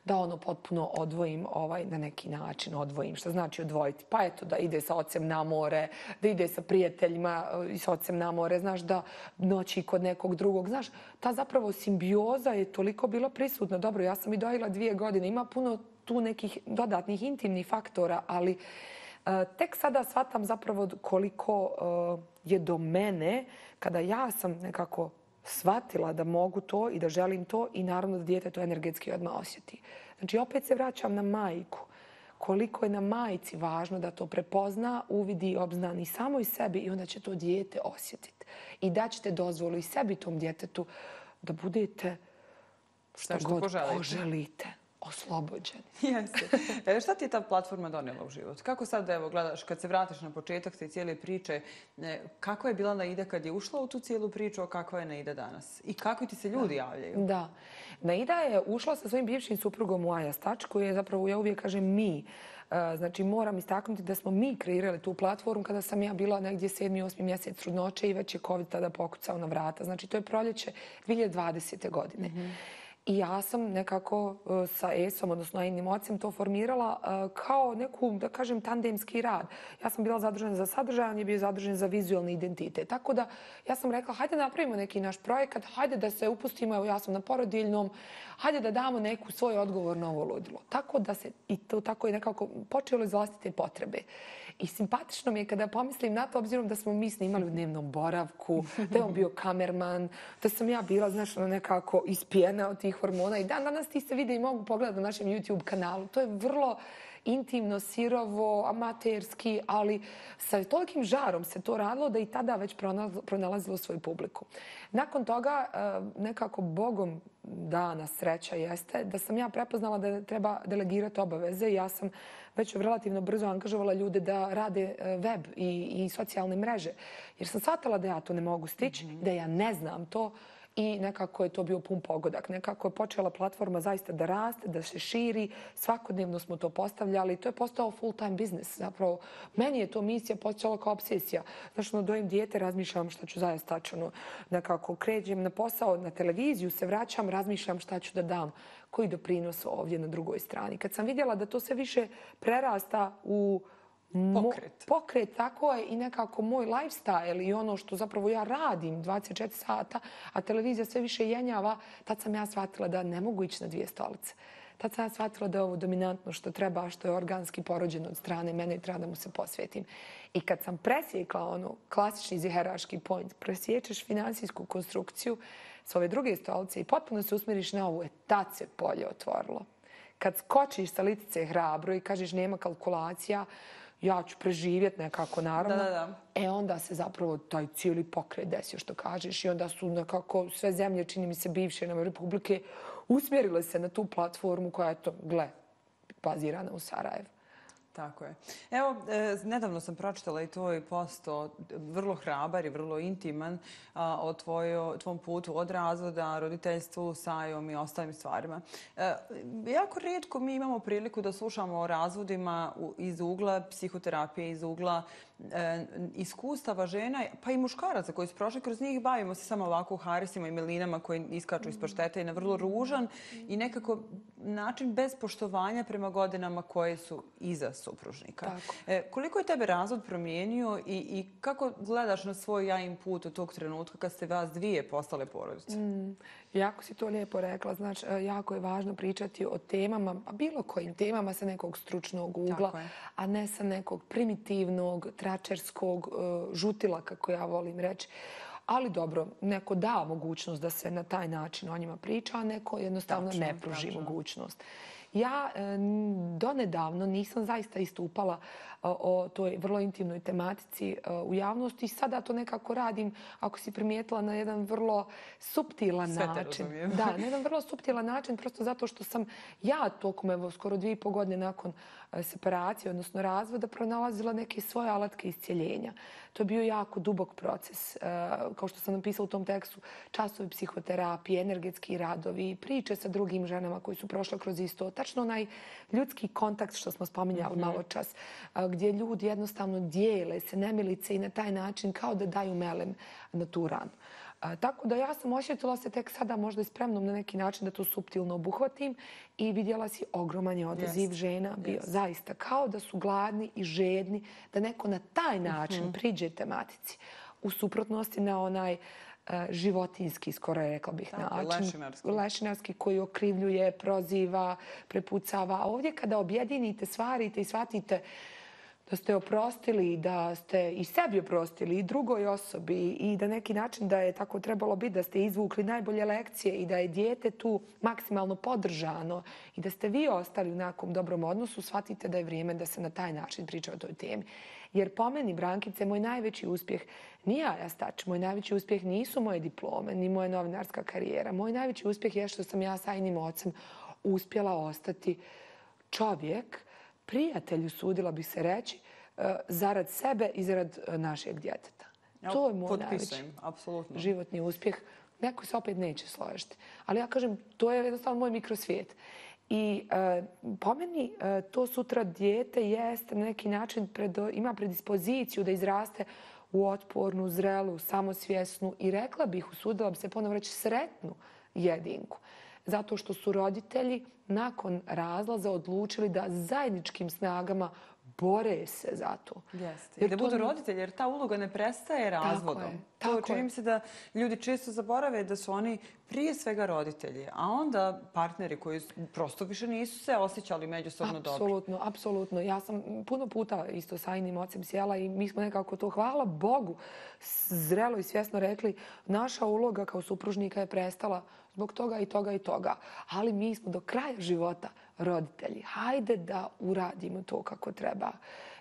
da ono potpuno odvojim, ovaj, na neki način odvojim. Što znači odvojiti? Pa eto, da ide sa ocem na more, da ide sa prijateljima i sa ocem na more, znaš, da noći kod nekog drugog. Znaš, ta zapravo simbioza je toliko bila prisutna. Dobro, ja sam i dojela dvije godine. Ima puno tu nekih dodatnih intimnih faktora, ali uh, tek sada shvatam zapravo koliko uh, je do mene kada ja sam nekako shvatila da mogu to i da želim to i naravno da dijete to energetski odmah osjeti. Znači, opet se vraćam na majku. Koliko je na majci važno da to prepozna, uvidi i obznani samo i sebi i onda će to dijete osjetiti. I daćete dozvolu i sebi tom djetetu da budete šta god poželite. Oslobođeni. Jeste. E, šta ti je ta platforma donijela u život? Kako sad, evo, gledaš, kad se vratiš na početak te cijele priče, kako je bila Naida kad je ušla u tu cijelu priču, a kakva je Naida danas? I kako ti se ljudi javljaju? Da. Naida je ušla sa svojim bivšim suprugom u Aja Stač, koji je zapravo, ja uvijek kažem mi. Znači, moram istaknuti da smo mi kreirali tu platformu kada sam ja bila negdje sedmi, osmi mjesec trudnoće i već je COVID tada pokucao na vrata. Znači, to je proljeće dvije hiljade dvadesete. godine. Mm-hmm. I ja sam nekako sa Esom, odnosno Ainim ocem, to formirala kao neku, da kažem, tandemski rad. Ja sam bila zadužena za sadržaj, on je bio zadužen za vizualni identitet. Tako da ja sam rekla, hajde napravimo neki naš projekat, hajde da se upustimo, evo ja sam na porodiljnom, hajde da damo neku svoj odgovor na ovo ludilo. Tako da se i to tako je nekako počelo iz vlastite potrebe. I simpatično mi je kada pomislim na to, obzirom da smo mi snimali u dnevnom boravku, da je on bio kamerman, da sam ja bila, znaš, nekako ispijena od tih hormona. I dan danas ti se vide i mogu pogledati na našem YouTube kanalu. To je vrlo intimno, sirovo, amaterski, ali sa tolikim žarom se to radilo da i tada već pronalazilo svoju publiku. Nakon toga, nekako Bogom dana sreća jeste da sam ja prepoznala da treba delegirati obaveze. Ja sam već relativno brzo angažovala ljude da rade web i, i socijalne mreže. Jer sam shvatila da ja to ne mogu stići, mm-hmm. da ja ne znam to i nekako je to bio pun pogodak. Nekako je počela platforma zaista da raste, da se širi. Svakodnevno smo to postavljali. To je postao full-time biznis. Zapravo, meni je to misija počela kao obsesija. Znači, ono, dojem dijete, razmišljam šta ću zaista tačno. Nekako kređem na posao, na televiziju, se vraćam, razmišljam šta ću da dam, koji doprinos ovdje na drugoj strani. Kad sam vidjela da to sve više prerasta u Pokret. Pokret, tako je i nekako moj lifestyle i ono što zapravo ja radim dvadeset četiri sata, a televizija sve više jenjava, tad sam ja shvatila da ne mogu ići na dvije stolice. Tad sam ja shvatila da je ovo dominantno što treba, što je organski porođeno od strane mene i treba da mu se posvetim. I kad sam presjekla ono klasični ziheraški point, presječeš finansijsku konstrukciju s ove druge stolice i potpuno se usmjeriš na ovu, e tad se polje otvorilo. Kad skočiš sa litice hrabro i kažeš nema kalkulacija, ja ću preživjeti nekako, naravno. Da, da, da. E onda se zapravo taj cijeli pokret desio, što kažeš. I onda su nekako sve zemlje, čini mi se, bivše nam republike, usmjerile se na tu platformu koja je to, gle, bazirana u Sarajevu. Tako je. Evo, e, nedavno sam pročitala i tvoj post o, vrlo hrabar i vrlo intiman a, o tvojo, tvom putu od razvoda, roditeljstvu, s Ajom i ostalim stvarima. E, jako rijetko mi imamo priliku da slušamo o razvodima u, iz ugla psihoterapije, iz ugla e, iskustava žena, pa i muškaraca koji su prošli kroz njih. Bavimo se samo ovako harisima i melinama koji iskaču iz paštete i na vrlo ružan i nekako način bez poštovanja prema godinama koje su iza supružnika. Tako. E, koliko je tebe razvod promijenio i, i kako gledaš na svoj jajin put od tog trenutka kad ste vas dvije postale porodice? Mm, jako si to lijepo rekla. Znači, jako je važno pričati o temama, a bilo kojim temama sa nekog stručnog ugla, a ne sa nekog primitivnog, tračerskog uh, žutila, kako ja volim reći. Ali dobro, neko da mogućnost da se na taj način o njima priča, a neko jednostavno tačno, ne pruži tačno. mogućnost. Ja e, donedavno nisam zaista istupala o, o toj vrlo intimnoj tematici e, u javnosti i sada to nekako radim, ako si primijetila, na jedan vrlo suptilan Sve te način. razumijem. Da, na jedan vrlo suptilan način, prosto zato što sam ja tokom evo, skoro dvije i pol godine nakon e, separacije, odnosno razvoda, pronalazila neke svoje alatke iscjeljenja. To je bio jako dubok proces. E, kao što sam napisala u tom tekstu, časovi psihoterapije, energetski radovi, priče sa drugim ženama koji su prošle kroz isto. Tačno onaj ljudski kontakt što smo spominjali malo čas, gdje ljudi jednostavno dijele se nemilice i na taj način kao da daju melem na tu ranu. Tako da ja sam osjetila se tek sada možda i spremnom na neki način da to suptilno obuhvatim i vidjela si ogroman je odaziv Yes. žena bio. Yes. Zaista kao da su gladni i žedni da neko na taj način priđe tematici. U suprotnosti na onaj životinski, skoro je rekla bih, Tako, način. lešinarski. Lešinarski koji okrivljuje, proziva, prepucava. A ovdje kada objedinite, stvarite i shvatite da ste oprostili, da ste i sebi oprostili i drugoj osobi i da neki način da je tako trebalo biti, da ste izvukli najbolje lekcije i da je dijete tu maksimalno podržano i da ste vi ostali u nekom dobrom odnosu, shvatite da je vrijeme da se na taj način priča o toj temi. Jer po meni, Brankice, moj najveći uspjeh nije Ajastač, moj najveći uspjeh nisu moje diplome, ni moja novinarska karijera. Moj najveći uspjeh je što sam ja sa Ajinim ocem uspjela ostati čovjek, prijatelj, usudila bih se reći, zarad sebe i zarad našeg djeteta. To je moj najveći apsolutno. životni uspjeh. Neko se opet neće složiti. Ali ja kažem, to je jednostavno moj mikrosvijet. I e, po meni e, to sutra dijete jeste na neki način pred, ima predispoziciju da izraste u otpornu, zrelu, samosvjesnu i rekla bih, usudila bi se ponovno reći, sretnu jedinku. Zato što su roditelji nakon razlaza odlučili da zajedničkim snagama bore se za to. Jeste. I da budu roditelji, jer ta uloga ne prestaje razvodom. Tako je, to tako čini je. mi se da ljudi često zaborave da su oni prije svega roditelji, a onda partneri koji prosto više nisu se osjećali međusobno dobro. Apsolutno, apsolutno. Ja sam puno puta isto sa Ajinim ocem sjela i mi smo nekako to, hvala Bogu, zrelo i svjesno rekli, naša uloga kao supružnika je prestala zbog toga i toga i toga. Ali mi smo do kraja života roditelji. Hajde da uradimo to kako treba.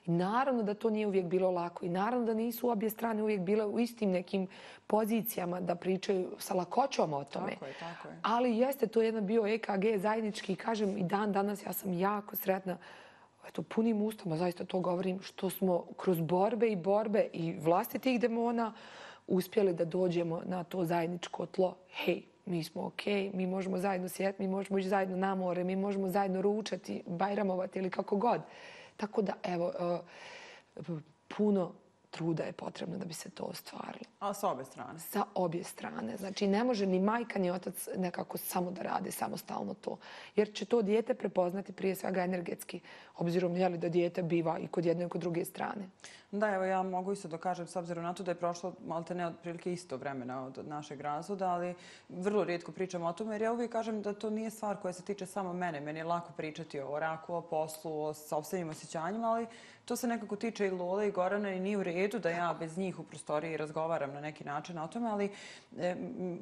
I naravno da to nije uvijek bilo lako i naravno da nisu obje strane uvijek bile u istim nekim pozicijama da pričaju sa lakoćom o tome. Tako je, tako je. Ali jeste to jedan bio E K G zajednički i kažem i dan danas ja sam jako sretna, eto, punimustama zaista to govorim, što smo kroz borbe i borbe i vlastitih demona uspjeli da dođemo na to zajedničko tlo. Hej, mi smo okej, mi možemo zajedno sjeti, mi možemo ići zajedno na more, mi možemo zajedno ručati, bajramovati ili kako god. Tako da, evo, puno truda je potrebno da bi se to ostvarilo. A sa obje strane? Sa obje strane. Znači, ne može ni majka ni otac nekako samo da rade samostalno to. Jer će to dijete prepoznati prije svega energetski, obzirom je li da dijete biva i kod jedne i kod druge strane. Da, evo ja mogu isto da kažem, s obzirom na to da je prošlo malte ne otprilike isto vremena od našeg razvoda, ali vrlo rijetko pričam o tome, jer ja uvijek kažem da to nije stvar koja se tiče samo mene. Meni je lako pričati o raku, o poslu, o sopstvenim osjećanjima, ali to se nekako tiče i Lole i Gorana i nije u redu da ja bez njih u prostoriji razgovaram na neki način o tome, ali e,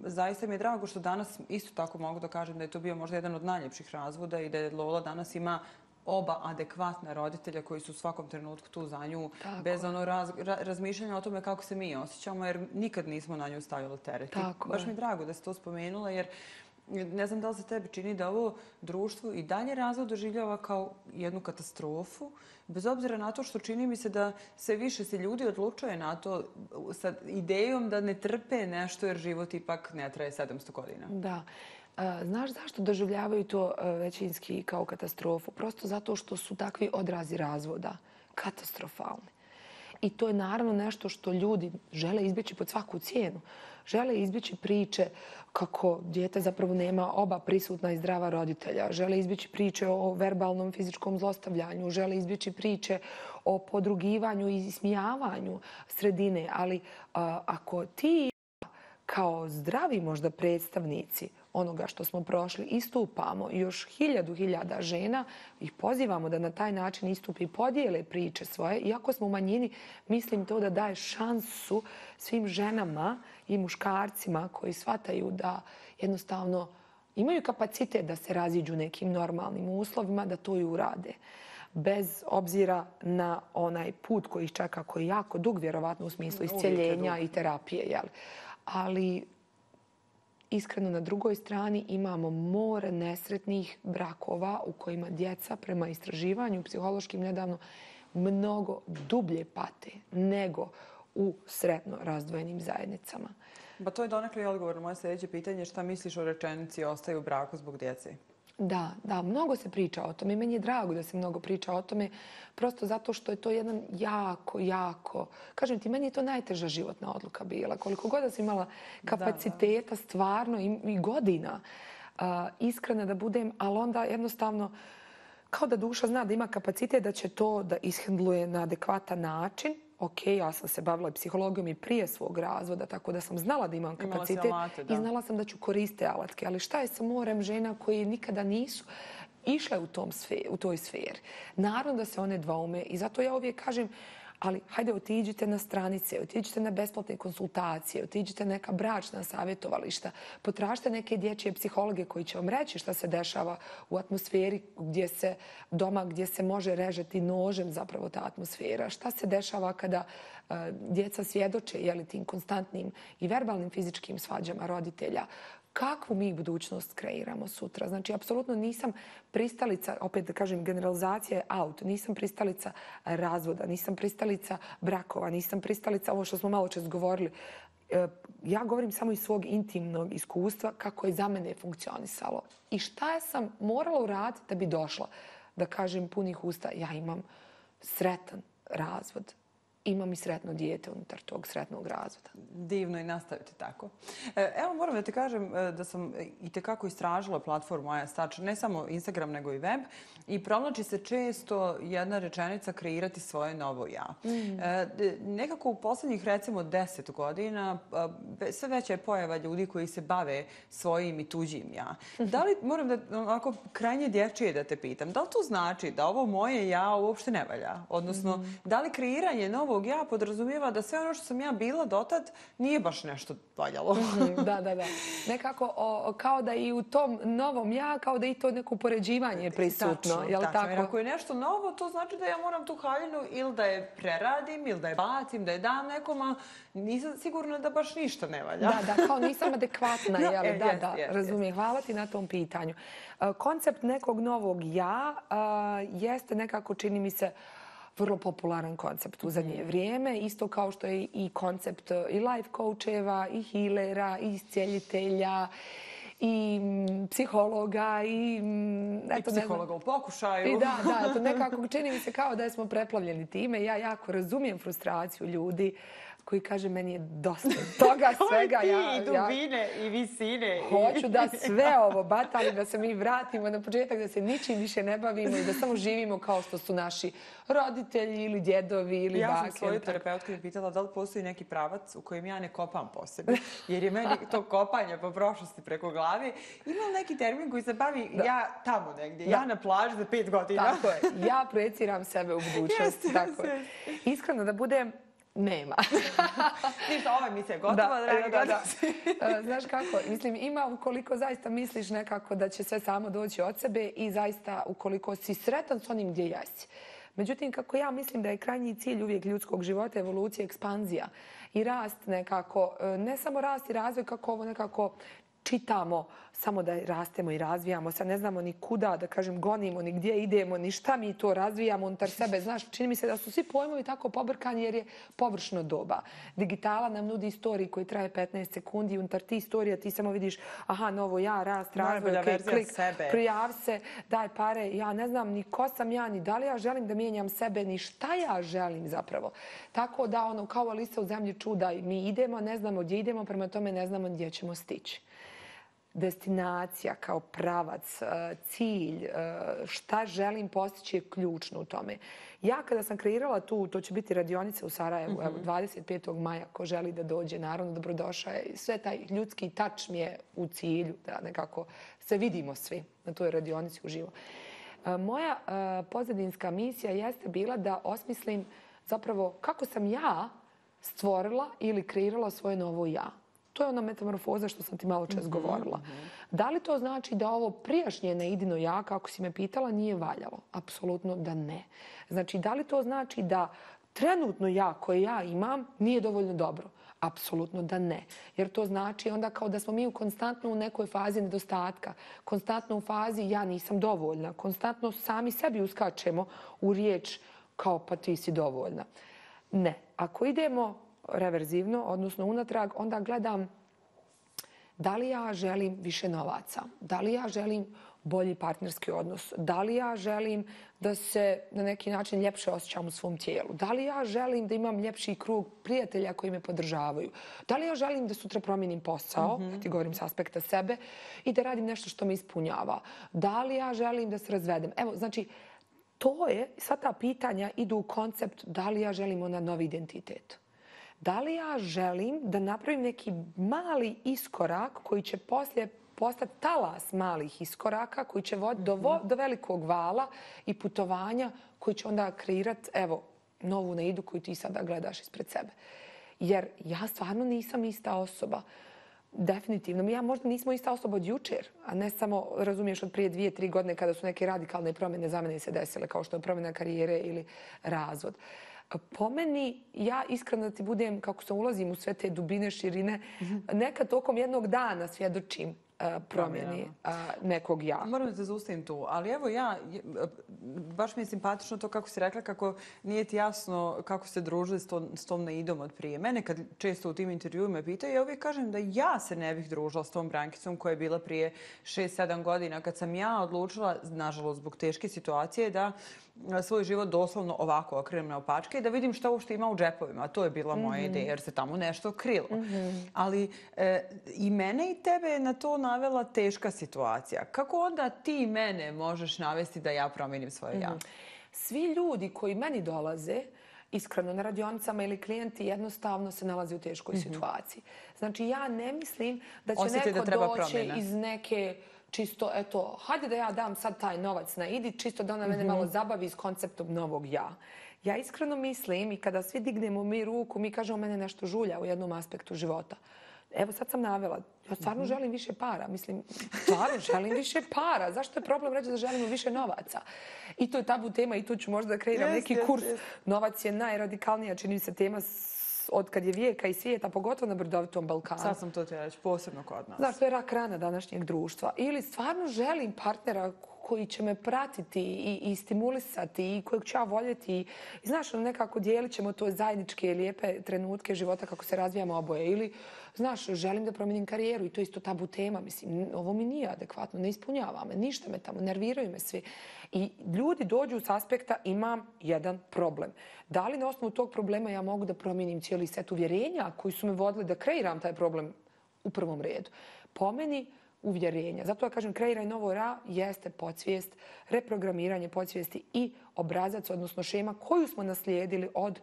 zaista mi je drago što danas isto tako mogu da kažem da je to bio možda jedan od najljepših razvoda i da je Lola danas ima oba adekvatna roditelja koji su u svakom trenutku tu za nju, Tako. bez ono raz, ra, razmišljanja o tome kako se mi osjećamo, jer nikad nismo na nju stavili teret. Tako Baš je. mi je drago da si to spomenula, jer ne znam da li se tebi čini da ovo društvo i dalje razvod doživljava kao jednu katastrofu, bez obzira na to što čini mi se da sve više se ljudi odlučuje na to sa idejom da ne trpe nešto jer život ipak ne traje sedamsto godina. Da. Znaš zašto doživljavaju to većinski kao katastrofu? Prosto zato što su takvi odrazi razvoda katastrofalni. I to je naravno nešto što ljudi žele izbjeći pod svaku cijenu. Žele izbjeći priče kako dijete zapravo nema oba prisutna i zdrava roditelja. Žele izbjeći priče o verbalnom fizičkom zlostavljanju. Žele izbjeći priče o podrugivanju i ismijavanju sredine. Ali a, ako ti kao zdravi možda predstavnici onoga što smo prošli istupamo i još hiljadu hiljada žena ih pozivamo da na taj način istupi i podijele priče svoje. Iako smo u manjini, mislim to da daje šansu svim ženama i muškarcima koji shvataju da jednostavno imaju kapacitet da se raziđu nekim normalnim uslovima, da to i urade. Bez obzira na onaj put koji ih čeka, koji je jako dug, vjerovatno u smislu iscjeljenja i terapije. Jel? Ali iskreno na drugoj strani imamo more nesretnih brakova u kojima djeca prema istraživanju psihološkim nedavno mnogo dublje pate nego u sretno razdvojenim zajednicama. Pa to je donekle odgovor na moje sljedeće pitanje. Šta misliš o rečenici ostaju u braku zbog djece? Da, da, mnogo se priča o tome i meni je drago da se mnogo priča o tome prosto zato što je to jedan jako, jako, kažem ti, meni je to najteža životna odluka bila. Koliko god da sam imala kapaciteta da, da. stvarno i, i godina uh, iskrena da budem, ali onda jednostavno kao da duša zna da ima kapacitet da će to da ishendluje na adekvatan način. Ok, ja sam se bavila psihologijom i prije svog razvoda, tako da sam znala da imam kapacitet alate, da. i znala sam da ću koristiti alatke. Ali šta je sa morem žena koji nikada nisu išle u, tom sfer, u toj sferi? Naravno da se one dvoume i zato ja uvijek kažem, ali hajde otiđite na stranice, otiđite na besplatne konsultacije, otiđite na neka bračna savjetovališta, potražite neke dječje psihologe koji će vam reći šta se dešava u atmosferi gdje se doma, gdje se može režeti nožem zapravo ta atmosfera. Šta se dešava kada uh, djeca svjedoče jeli, tim konstantnim i verbalnim fizičkim svađama roditelja. Kakvu mi budućnost kreiramo sutra? Znači, apsolutno nisam pristalica, opet da kažem, generalizacija je out, nisam pristalica razvoda, nisam pristalica brakova, nisam pristalica ovo što smo malo čas govorili. Ja govorim samo iz svog intimnog iskustva kako je za mene funkcionisalo. I šta sam morala uraditi da bi došla, da kažem punih usta, ja imam sretan razvod. Imam i sretno dijete unutar tog sretnog razvoda. Divno i nastaviti tako. Evo moram da te kažem da sam i tekako istražila platformu Aja Stač, ne samo Instagram nego i web, i provlači se često jedna rečenica kreirati svoje novo ja. Mm. Nekako u posljednjih recimo deset godina sve veća je pojava ljudi koji se bave svojim i tuđim ja. Da li, moram da onako krajnje dječije da te pitam, da li to znači da ovo moje ja uopšte ne valja? Odnosno, mm. da li kreiranje novog ja podrazumijeva da sve ono što sam ja bila dotad nije baš nešto valjalo. Da, da, da. Nekako o, kao da i u tom novom ja, kao da i to neko upoređivanje je prisutno. Tačno, jel tačno. Tako? Jer ako je nešto novo, to znači da ja moram tu haljinu ili da je preradim, ili da je bacim, da je dam nekom, a nisam sigurna da baš ništa ne valja. Da, da, kao nisam adekvatna. No, jel? e, Da, jest, da, jest, razumijem. jest. Hvala ti na tom pitanju. Koncept nekog novog ja uh, jeste nekako, čini mi se, vrlo popularan koncept u zadnje vrijeme. Isto kao što je i koncept i life coacheva, i healera, i iscijeljitelja, i psihologa, i... Eto, I psihologa u pokušaju. I da, da, eto, nekako čini mi se kao da smo preplavljeni time. Ja jako razumijem frustraciju ljudi koji kaže meni je dosta toga svega. Ti, ja, i dubine, ja, i visine. Hoću da sve ovo batali, da se mi vratimo na početak, da se ničim više ne bavimo i da samo živimo kao što su naši roditelji ili djedovi ili ja bake. Ja sam svoju terapeutku pitala da li postoji neki pravac u kojem ja ne kopam po sebi. Jer je meni to kopanje po prošlosti preko glave. Ima li neki termin koji se bavi da. ja tamo negdje, da. ja na plaži za pet godina. Tako je. Ja projeciram sebe u budućnost. Yes, tako yes, je. Iskreno da budem, nema. Ništa, ova emisija je gotova, da, dragi da, da. Znaš kako, mislim, ima ukoliko zaista misliš nekako da će sve samo doći od sebe i zaista ukoliko si sretan s onim gdje jesi. Međutim, kako ja mislim da je krajnji cilj uvijek ljudskog života, evolucija, ekspanzija i rast nekako, ne samo rast i razvoj kako ovo nekako čitamo samo da rastemo i razvijamo. Sad ne znamo ni kuda, da kažem, gonimo, ni gdje idemo, ni šta mi to razvijamo unutar sebe. Znaš, čini mi se da su svi pojmovi tako pobrkani jer je površno doba. Digitala nam nudi istoriji koji traje petnaest sekundi i unutar ti istorija ti samo vidiš aha, novo ja, rast, razvoj, okay, klik, prijav se, daj pare. Ja ne znam ni ko sam ja, ni da li ja želim da mijenjam sebe, ni šta ja želim zapravo. Tako da, ono, kao Alisa u zemlji čuda, mi idemo, ne znamo gdje idemo, prema tome ne znamo gdje ćemo stići. Destinacija kao pravac, cilj, šta želim postići je ključno u tome. Ja kada sam kreirala tu, to će biti radionica u Sarajevu, mm-hmm. evo, dvadeset petog maja, ko želi da dođe, naravno dobrodošao je. Sve taj ljudski tač mi je u cilju, da nekako se vidimo svi na toj radionici uživo. Moja pozadinska misija jeste bila da osmislim zapravo kako sam ja stvorila ili kreirala svoje novo ja. To je ona metamorfoza što sam ti malo čas mm-hmm, govorila. Mm-hmm. Da li to znači da ovo prijašnje neidino ja, kako si me pitala, nije valjalo? Apsolutno da ne. Znači, da li to znači da trenutno ja koje ja imam nije dovoljno dobro? Apsolutno da ne. Jer to znači onda kao da smo mi konstantno u nekoj fazi nedostatka. Konstantno u fazi ja nisam dovoljna. Konstantno sami sebi uskačemo u riječ kao pa ti si dovoljna. Ne. Ako idemo reverzivno, odnosno unatrag, onda gledam da li ja želim više novaca, da li ja želim bolji partnerski odnos, da li ja želim da se na neki način ljepše osjećam u svom tijelu, da li ja želim da imam ljepši krug prijatelja koji me podržavaju, da li ja želim da sutra promijenim posao, mm-hmm. kad ti govorim s aspekta sebe, i da radim nešto što me ispunjava, da li ja želim da se razvedem. Evo, znači, to je, sva ta pitanja idu u koncept da li ja želim onaj novi identitet. Da li ja želim da napravim neki mali iskorak koji će poslije postati talas malih iskoraka koji će voditi do, vo, do velikog vala i putovanja koji će onda kreirati, evo, novu neidu koju ti sada gledaš ispred sebe. Jer ja stvarno nisam ista osoba. Definitivno. Ja možda nismo ista osoba od jučer, a ne samo, razumiješ, od prije dvije, tri godine kada su neke radikalne promjene za mene se desile, kao što je promjena karijere ili razvod. Po meni, ja iskreno da ti budem, kako sam ulazim u sve te dubine, širine, mm-hmm. nekad tokom jednog dana svjedočim uh, promjeni uh, nekog ja. Moram da te zaustavim tu, ali evo ja, baš mi je simpatično to kako si rekla, kako nije ti jasno kako ste družili s, to, s tom neidom od prije. Mene kad često u tim intervjuima pitaju, ja uvijek kažem da ja se ne bih družila s tom Brankicom koja je bila prije šest sedam godina, kad sam ja odlučila, nažalost zbog teške situacije, da svoj život doslovno ovako okrenem na opačke i da vidim šta uopšte ima u džepovima. A to je bila moja mm-hmm. ideja jer se tamo nešto krilo. Mm-hmm. Ali e, i mene i tebe je na to navela teška situacija. Kako onda ti mene možeš navesti da ja promijenim svoje mm-hmm. ja? Svi ljudi koji meni dolaze, iskreno na radionicama ili klijenti, jednostavno se nalaze u teškoj mm-hmm. situaciji. Znači ja ne mislim da će Osjeti neko da treba doći promjena. iz neke čisto, eto, hajde da ja dam sad taj novac na idi, čisto da ona mene malo zabavi s konceptom novog ja. Ja iskreno mislim i kada svi dignemo mi ruku, mi kažemo mene nešto žulja u jednom aspektu života. Evo sad sam navela, ja stvarno želim više para. Mislim, stvarno želim više para. Zašto je problem reći da želimo više novaca? I to je tabu tema i tu ću možda da kreiram yes, neki yes, kurs. Yes. Novac je najradikalnija, čini mi se, tema od kad je vijeka i svijeta, pogotovo na brdovitom Balkanu. Sad sam to ti reći, posebno kod nas. Znaš, to je rak rana današnjeg društva. Ili stvarno želim partnera koji će me pratiti i, i stimulisati i kojeg ću ja voljeti. I, znaš, nekako dijelit ćemo to zajedničke lijepe trenutke života kako se razvijamo oboje. Ili, znaš, želim da promijenim karijeru i to je isto tabu tema. Mislim, ovo mi nije adekvatno, ne ispunjava me, ništa me tamo, nerviraju me svi. I ljudi dođu s aspekta imam jedan problem. Da li na osnovu tog problema ja mogu da promijenim cijeli set uvjerenja koji su me vodili da kreiram taj problem u prvom redu? Po meni, uvjerenja. Zato ja kažem kreiraj novo ra jeste podsvijest, reprogramiranje podsvijesti i obrazac, odnosno šema koju smo naslijedili od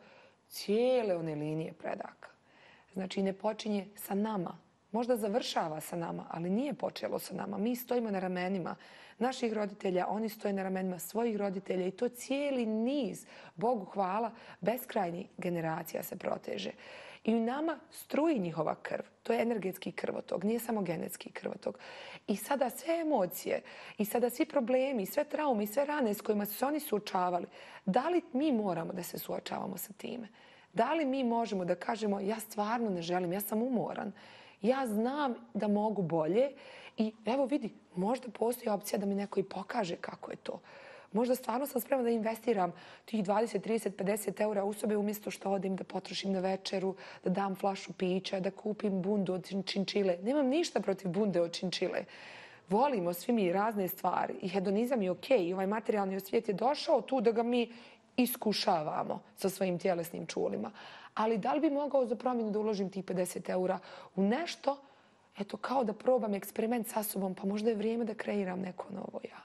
cijele one linije predaka. Znači ne počinje sa nama. Možda završava sa nama, ali nije počelo sa nama. Mi stojimo na ramenima naših roditelja, oni stoje na ramenima svojih roditelja i to cijeli niz, Bogu hvala, beskrajnih generacija se proteže. I u nama struji njihova krv. To je energetski krvotok, nije samo genetski krvotok. I sada sve emocije, i sada svi problemi, sve traume, i sve rane s kojima su se oni suočavali, da li mi moramo da se suočavamo sa time? Da li mi možemo da kažemo ja stvarno ne želim, ja sam umoran, Ja znam da mogu bolje i evo vidi, možda postoji opcija da mi neko i pokaže kako je to. Možda stvarno sam spremna da investiram tih dvadeset, trideset, pedeset eura u sebe umjesto što odim da potrošim na večeru, da dam flašu pića, da kupim bundu od činčile. Nemam ništa protiv bunde od činčile. Volimo svi mi razne stvari i hedonizam je okej. Ovaj materijalni svijet je došao tu da ga mi iskušavamo sa svojim tjelesnim čulima. Ali da li bi mogao za promjenu da uložim tih pedeset eura u nešto, eto kao da probam eksperiment sa sobom, pa možda je vrijeme da kreiram neko novo ja.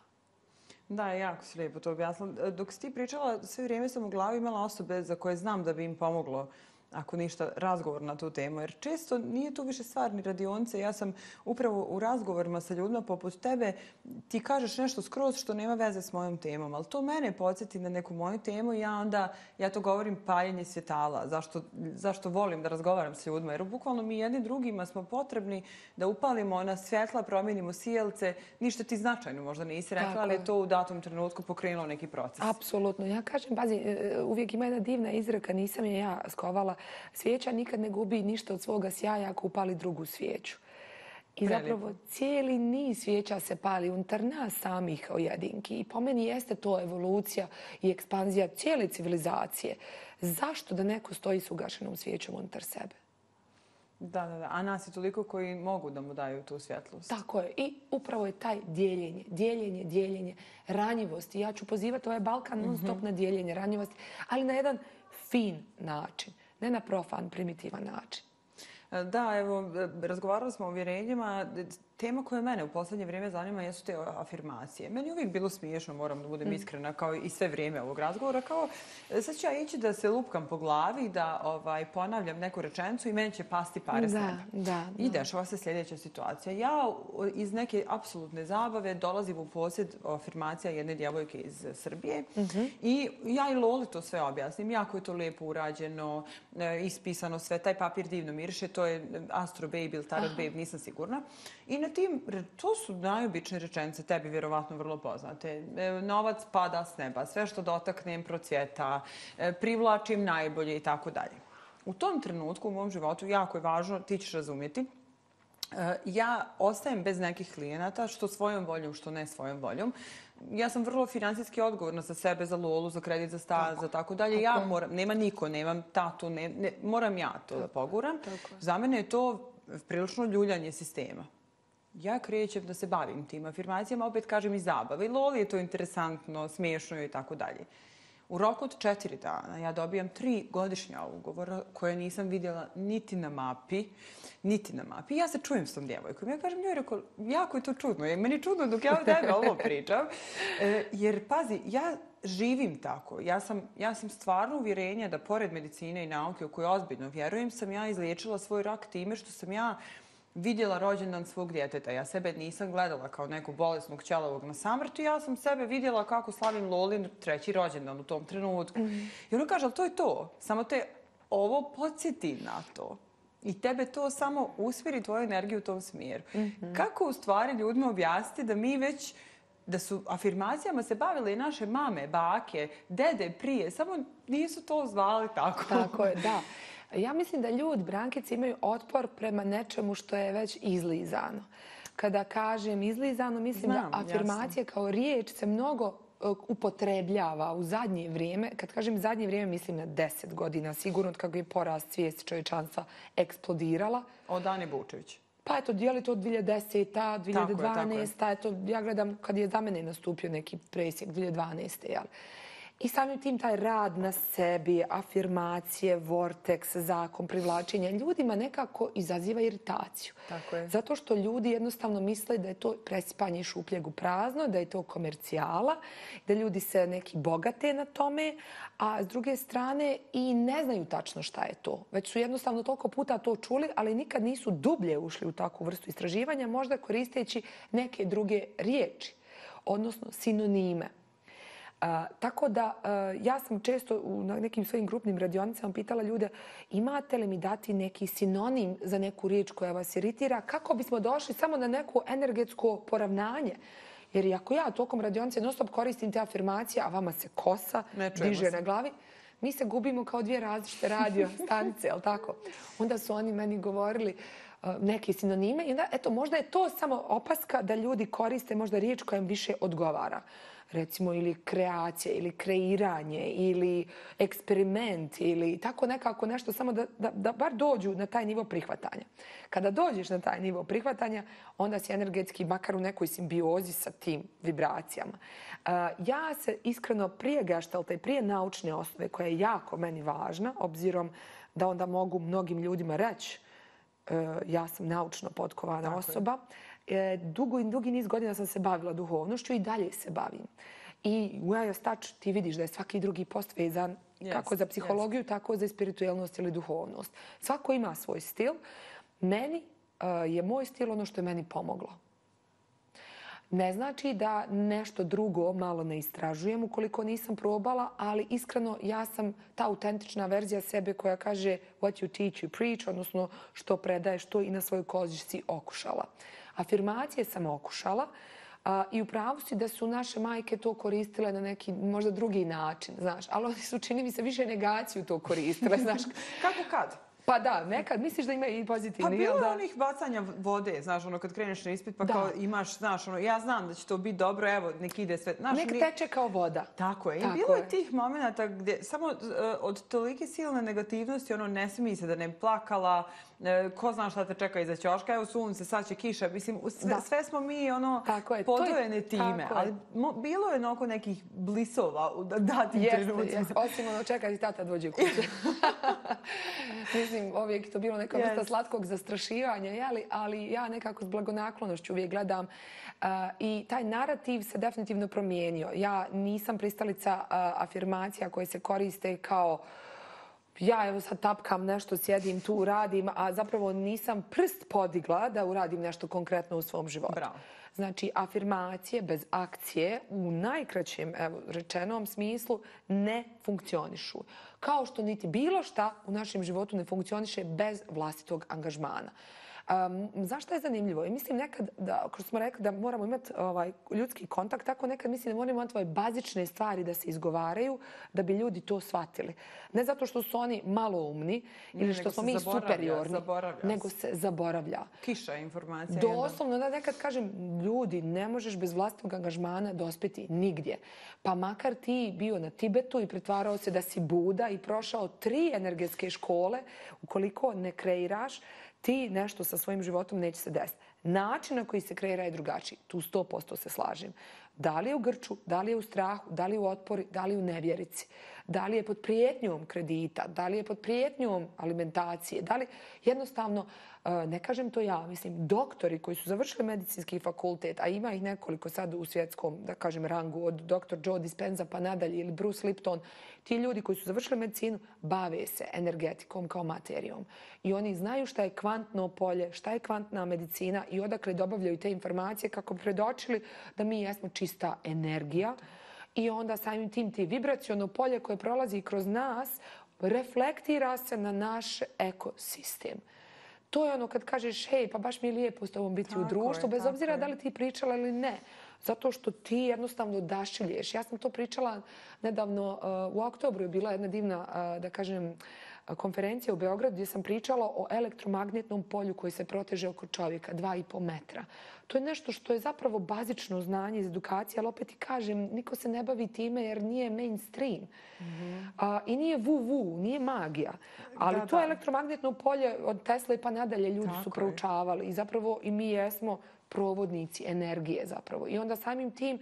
Da, jako si lijepo to objasnila. Dok si ti pričala, sve vrijeme sam u glavi imala osobe za koje znam da bi im pomoglo, ako ništa, razgovor na tu temu. Jer često nije tu više stvar ni radionice. Ja sam upravo u razgovorima sa ljudima poput tebe, ti kažeš nešto skroz što nema veze s mojom temom, ali to mene podsjeti na neku moju temu i ja onda, ja to govorim paljenje svjetala. Zašto, zašto volim da razgovaram s ljudima? Jer bukvalno mi jedni drugima smo potrebni da upalimo na svjetla, promijenimo sijelce. Ništa ti značajno možda nisi rekla, ali je to u datom trenutku pokrenulo neki proces. Apsolutno. Ja kažem, pazi, uvijek ima jedna divna izreka, nisam je ja skovala. Svijeća nikad ne gubi ništa od svoga sjaja ako upali drugu svijeću. I zapravo cijeli niz svijeća se pali unutar nas samih o jedinki. I po meni jeste to evolucija i ekspanzija cijele civilizacije. Zašto da neko stoji s ugašenom svijećom unutar sebe? Da, da, da. A nas je toliko koji mogu da mu daju tu svjetlost. Tako je. I upravo je taj dijeljenje, dijeljenje, dijeljenje, ranjivost. I ja ću pozivati ovaj Balkan non stop na dijeljenje, ranjivosti, ali na jedan fin način. Ne na profan, primitivan način. Da, evo, razgovarali smo o uvjerenjima. Tema koja mene u posljednje vrijeme zanima jesu te afirmacije. Meni je uvijek bilo smiješno, moram da budem iskrena, kao i sve vrijeme ovog razgovora. Kao, sad ću ja ići da se lupkam po glavi, da ovaj, ponavljam neku rečenicu i meni će pasti pare s nebe. Da, da. I dešava se sljedeća situacija. Ja iz neke apsolutne zabave dolazim u posjed afirmacija jedne djevojke iz Srbije i ja i Loli to sve objasnim. Jako je to lijepo urađeno, ispisano sve. Taj papir divno miriše, to je Astro Baby ili Tarot Babe, nisam sigurna. I na tim, to su najobičnije rečenice, tebi vjerovatno vrlo poznate. Novac pada s neba, sve što dotaknem procvjeta, privlačim najbolje i tako dalje. U tom trenutku u mom životu jako je važno, ti ćeš razumjeti, ja ostajem bez nekih klijenata, što svojom voljom, što ne svojom voljom. Ja sam vrlo financijski odgovorna za sebe, za Lolu, za kredit, za stan, za tako dalje. Ja moram, nema niko, nemam tatu, ne, ne, moram ja to da poguram. Za mene je to prilično ljuljanje sistema. Ja krećem da se bavim tim afirmacijama, opet kažem i zabave. I Loli je to interesantno, smiješno i tako dalje. U roku od četiri dana ja dobijam tri godišnja ugovora koje nisam vidjela niti na mapi, niti na mapi. Ja se čujem s tom djevojkom. Ja kažem, njoj rekao, jako je to čudno. Je meni čudno dok ja o tebe ovo pričam. E, jer, pazi, ja živim tako. Ja sam, ja sam stvarno uvjerenja da pored medicine i nauke u kojoj ozbiljno vjerujem, sam ja izliječila svoj rak time što sam ja vidjela rođendan svog djeteta. Ja sebe nisam gledala kao neku bolesnog ćelavog na samrtu. Ja sam sebe vidjela kako slavim Lolin treći rođendan u tom trenutku. Mm. I ona kaže, ali to je to. Samo te ovo podsjeti na to. I tebe to samo usmjeri tvoju energiju u tom smjeru. Mm-hmm. Kako u stvari ljudima objasniti da mi već, da su afirmacijama se bavile i naše mame, bake, dede prije, samo nisu to zvali tako. Tako je, da. Ja mislim da ljudi, Brankice, imaju otpor prema nečemu što je već izlizano. Kada kažem izlizano, mislim Znam, da afirmacija jasno. Kao riječ se mnogo upotrebljava u zadnje vrijeme. Kad kažem zadnje vrijeme, mislim na deset godina, sigurno od kako je porast svijesti čovječanstva eksplodirala. Od Ane Bučević. Pa eto, dijeli to od dvije hiljade desete. dvije hiljade dvanaeste. Tako je, tako je. Eto, ja gledam kad je za mene nastupio neki presjek dvije hiljade dvanaeste. Jel? I samim tim taj rad na sebi, afirmacije, vorteks, zakon, privlačenja, ljudima nekako izaziva iritaciju. Tako je. Zato što ljudi jednostavno misle da je to presipanje šupljeg u prazno, da je to komercijala, da ljudi se neki bogate na tome, a s druge strane i ne znaju tačno šta je to. Već su jednostavno toliko puta to čuli, ali nikad nisu dublje ušli u takvu vrstu istraživanja, možda koristeći neke druge riječi, odnosno sinonime. Uh, tako da uh, ja sam često u nekim svojim grupnim radionicama pitala ljude imate li mi dati neki sinonim za neku riječ koja vas iritira kako bismo došli samo na neko energetsko poravnanje. Jer ako ja tokom radionice non stop koristim te afirmacije, a vama se kosa diže na glavi, mi se gubimo kao dvije različite radio stanice, jel tako? Onda su oni meni govorili neke sinonime. I onda, eto, možda je to samo opaska da ljudi koriste možda riječ koja im više odgovara. Recimo, ili kreacija, ili kreiranje, ili eksperiment, ili tako nekako nešto, samo da, da, da bar dođu na taj nivo prihvatanja. Kada dođeš na taj nivo prihvatanja, onda si energetski makar u nekoj simbiozi sa tim vibracijama. Uh, ja se iskreno prije geštalta i prije naučne osnove, koja je jako meni važna, obzirom da onda mogu mnogim ljudima reći uh, ja sam naučno potkovana tako osoba, je. Dugo i dugi niz godina sam se bavila duhovnošću i dalje se bavim. I u Eos Touch ti vidiš da je svaki drugi post vezan yes, kako za psihologiju, yes. tako za spiritualnost ili duhovnost. Svako ima svoj stil. Meni uh, je moj stil ono što je meni pomoglo. Ne znači da nešto drugo malo ne istražujem ukoliko nisam probala, ali iskreno ja sam ta autentična verzija sebe koja kaže what you teach, you preach, odnosno što predaješ, to i na svojoj koži si okušala. Afirmacije sam okušala. Uh, I u pravu si da su naše majke to koristile na neki možda drugi način, znaš. Ali oni su, čini mi se, više negaciju to koristile, znaš. Kako kad? Pa da, nekad misliš da ima i pozitivni. Pa bilo je da? onih bacanja vode, znaš, ono, kad kreneš na ispit, pa da. Kao imaš, znaš, ono, ja znam da će to biti dobro, evo, nek ide sve. Znaš, nek ni... teče kao voda. Tako je. I Tako bilo je je tih momenta gdje samo uh, od tolike silne negativnosti, ono, ne smije se da ne plakala, uh, ko zna šta te čeka iza ćoška, evo sunce, sad će kiša, mislim, sve, sve smo mi, ono, podvojene time. Ali mo, bilo je oko nekih blisova u datim jeste, trenucima. Jeste, osim ono, čekaj, tata dođe u kuću. Mislim, uvijek to bilo neka vrsta yes. slatkog zastrašivanja, jeli? Ali ja nekako s blagonaklonošću uvijek gledam uh, i taj narativ se definitivno promijenio. Ja nisam pristalica uh, afirmacija koje se koriste kao ja evo sad tapkam nešto, sjedim tu, radim, a zapravo nisam prst podigla da uradim nešto konkretno u svom životu. Bravo. Znači, afirmacije bez akcije u najkraćem evo, rečenom smislu ne funkcionišu. Kao što niti bilo šta u našem životu ne funkcioniše bez vlastitog angažmana. Um, zašto je zanimljivo? I mislim nekad, da, kao smo rekli, da moramo imati ovaj, ljudski kontakt, tako nekad mislim da moramo imati ove bazične stvari da se izgovaraju da bi ljudi to shvatili. Ne zato što su oni maloumni ili ne, što smo mi superiorni, nego se zaboravlja. Kiša informacija. Doslovno, da nekad kažem, ljudi, ne možeš bez vlastnog angažmana dospjeti nigdje. Pa makar ti bio na Tibetu i pretvarao se da si Buda i prošao tri energetske škole, ukoliko ne kreiraš, ti nešto sa svojim životom neće se desiti. Način na koji se kreira je drugačiji. Tu sto posto se slažem. Da li je u grču, da li je u strahu, da li je u otpori, da li je u nevjerici, da li je pod prijetnjom kredita, da li je pod prijetnjom alimentacije, da li jednostavno, ne kažem to ja, mislim, doktori koji su završili medicinski fakultet, a ima ih nekoliko sad u svjetskom, da kažem, rangu, od doktor Joe Dispenza pa nadalje ili Bruce Lipton, ti ljudi koji su završili medicinu bave se energetikom kao materijom. I oni znaju šta je kvantno polje, šta je kvantna medicina i odakle dobavljaju te informacije kako bi predočili da mi jesmo čista energija. I onda samim tim ti vibraciono polje koje prolazi kroz nas reflektira se na naš ekosistem. To je ono kad kažeš, hej, pa baš mi je lijepo s tobom biti tako u društvu, je, bez obzira je. Da li ti pričala ili ne. Zato što ti jednostavno odašilješ. Ja sam to pričala nedavno, uh, u oktobru je bila jedna divna, uh, da kažem, konferencija u Beogradu gdje sam pričala o elektromagnetnom polju koji se proteže oko čovjeka, dva i po metra. To je nešto što je zapravo bazično znanje iz edukacije, ali opet i kažem, niko se ne bavi time jer nije mainstream. Mm-hmm. A, I nije vu-vu, nije magija. Ali da, to da. Elektromagnetno polje od Tesle pa nadalje ljudi tako su proučavali. Je. I zapravo i mi jesmo provodnici energije zapravo. I onda samim tim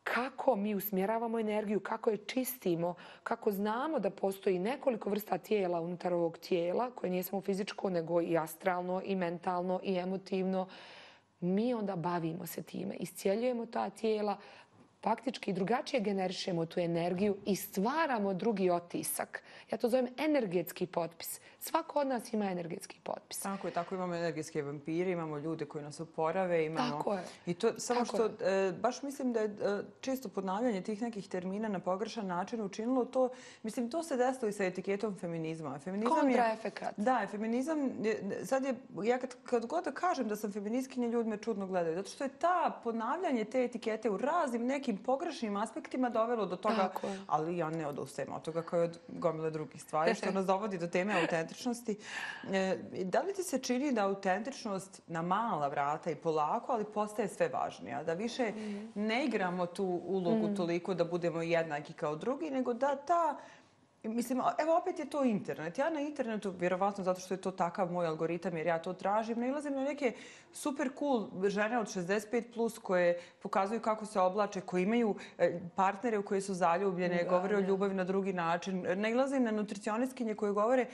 kako mi usmjeravamo energiju, kako je čistimo, kako znamo da postoji nekoliko vrsta tijela unutar ovog tijela, koje nije samo fizičko, nego i astralno, i mentalno, i emotivno. Mi onda bavimo se time, iscijeljujemo ta tijela, faktički drugačije generišemo tu energiju i stvaramo drugi otisak. Ja to zovem energetski potpis. Svako od nas ima energetski potpis. Tako je, tako imamo energetske vampire, imamo ljude koji nas oporave. Imamo... Tako je. I to samo tako što, e, baš mislim da je e, često ponavljanje tih nekih termina na pogrešan način učinilo to, mislim, to se desilo i sa etiketom feminizma. Feminizam kontraefekat. Da, feminizam, je, sad je, ja kad, kad god da kažem da sam feministkinja, ljudi me čudno gledaju. Zato što je ta ponavljanje te etikete u raznim nekim nekim pogrešnim aspektima dovelo do toga, ali ja ne odustajem od toga kao i od gomile drugih stvari, što nas dovodi do teme autentičnosti. Da li ti se čini da autentičnost na mala vrata i polako, ali postaje sve važnija? Da više ne igramo tu ulogu toliko da budemo jednaki kao drugi, nego da ta... Mislim, evo opet je to internet. Ja na internetu, vjerovatno zato što je to takav moj algoritam jer ja to tražim, nailazim na neke super cool žene od šezdeset pet plus koje pokazuju kako se oblače, koje imaju partnere u koje su zaljubljene, govore o ljubavi na drugi način. Nailazim na nutricionistkinje koje govore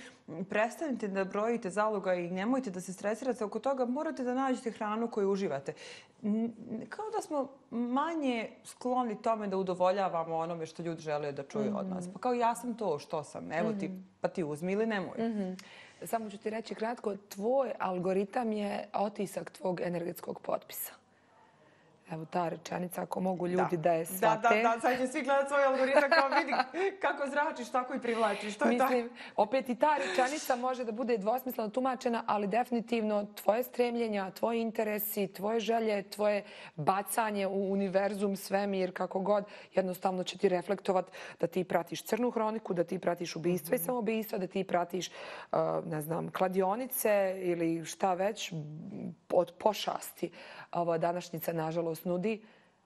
prestanite da brojite zaloga i nemojte da se stresirate oko toga, morate da nađete hranu koju uživate. Kao da smo manje skloni tome da udovoljavamo onome što ljudi žele da čuju od nas. Pa kao ja sam to što sam, evo ti, pa ti uzmi ili nemoj. Samo ću ti reći kratko, tvoj algoritam je otisak tvog energetskog potpisa. Evo ta rečenica, ako mogu ljudi da je shvate. Da, da, da, sad će svi gledati svoj algoritam kao vidi kako zračiš, tako i privlačiš. To je Mislim, opet i ta rečenica može da bude dvosmisleno tumačena, ali definitivno tvoje stremljenja, tvoji interesi, tvoje želje, tvoje bacanje u univerzum, svemir, kako god, jednostavno će ti reflektovati da ti pratiš crnu hroniku, da ti pratiš ubistva i samoubistva, da ti pratiš, ne znam, kladionice ili šta već od pošasti. Ova današnjica, nažalost, nudi,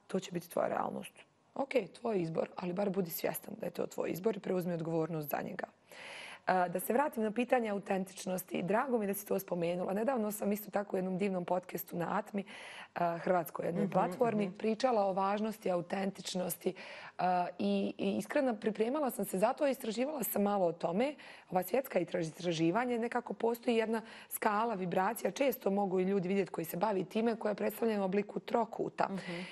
to će biti tvoja realnost. Ok, tvoj izbor, ali bar budi svjestan da je to tvoj izbor i preuzmi odgovornost za njega. Da se vratim na pitanje autentičnosti. Drago mi da si to spomenula. Nedavno sam isto tako u jednom divnom podcastu na Atmi, hrvatskoj jednoj platformi, pričala o važnosti autentičnosti i iskreno pripremala sam se zato i istraživala sam malo o tome. Ova svjetska istraživanje, nekako postoji jedna skala vibracija. Često mogu i ljudi vidjeti koji se bavi time koja je predstavljena u obliku trokuta.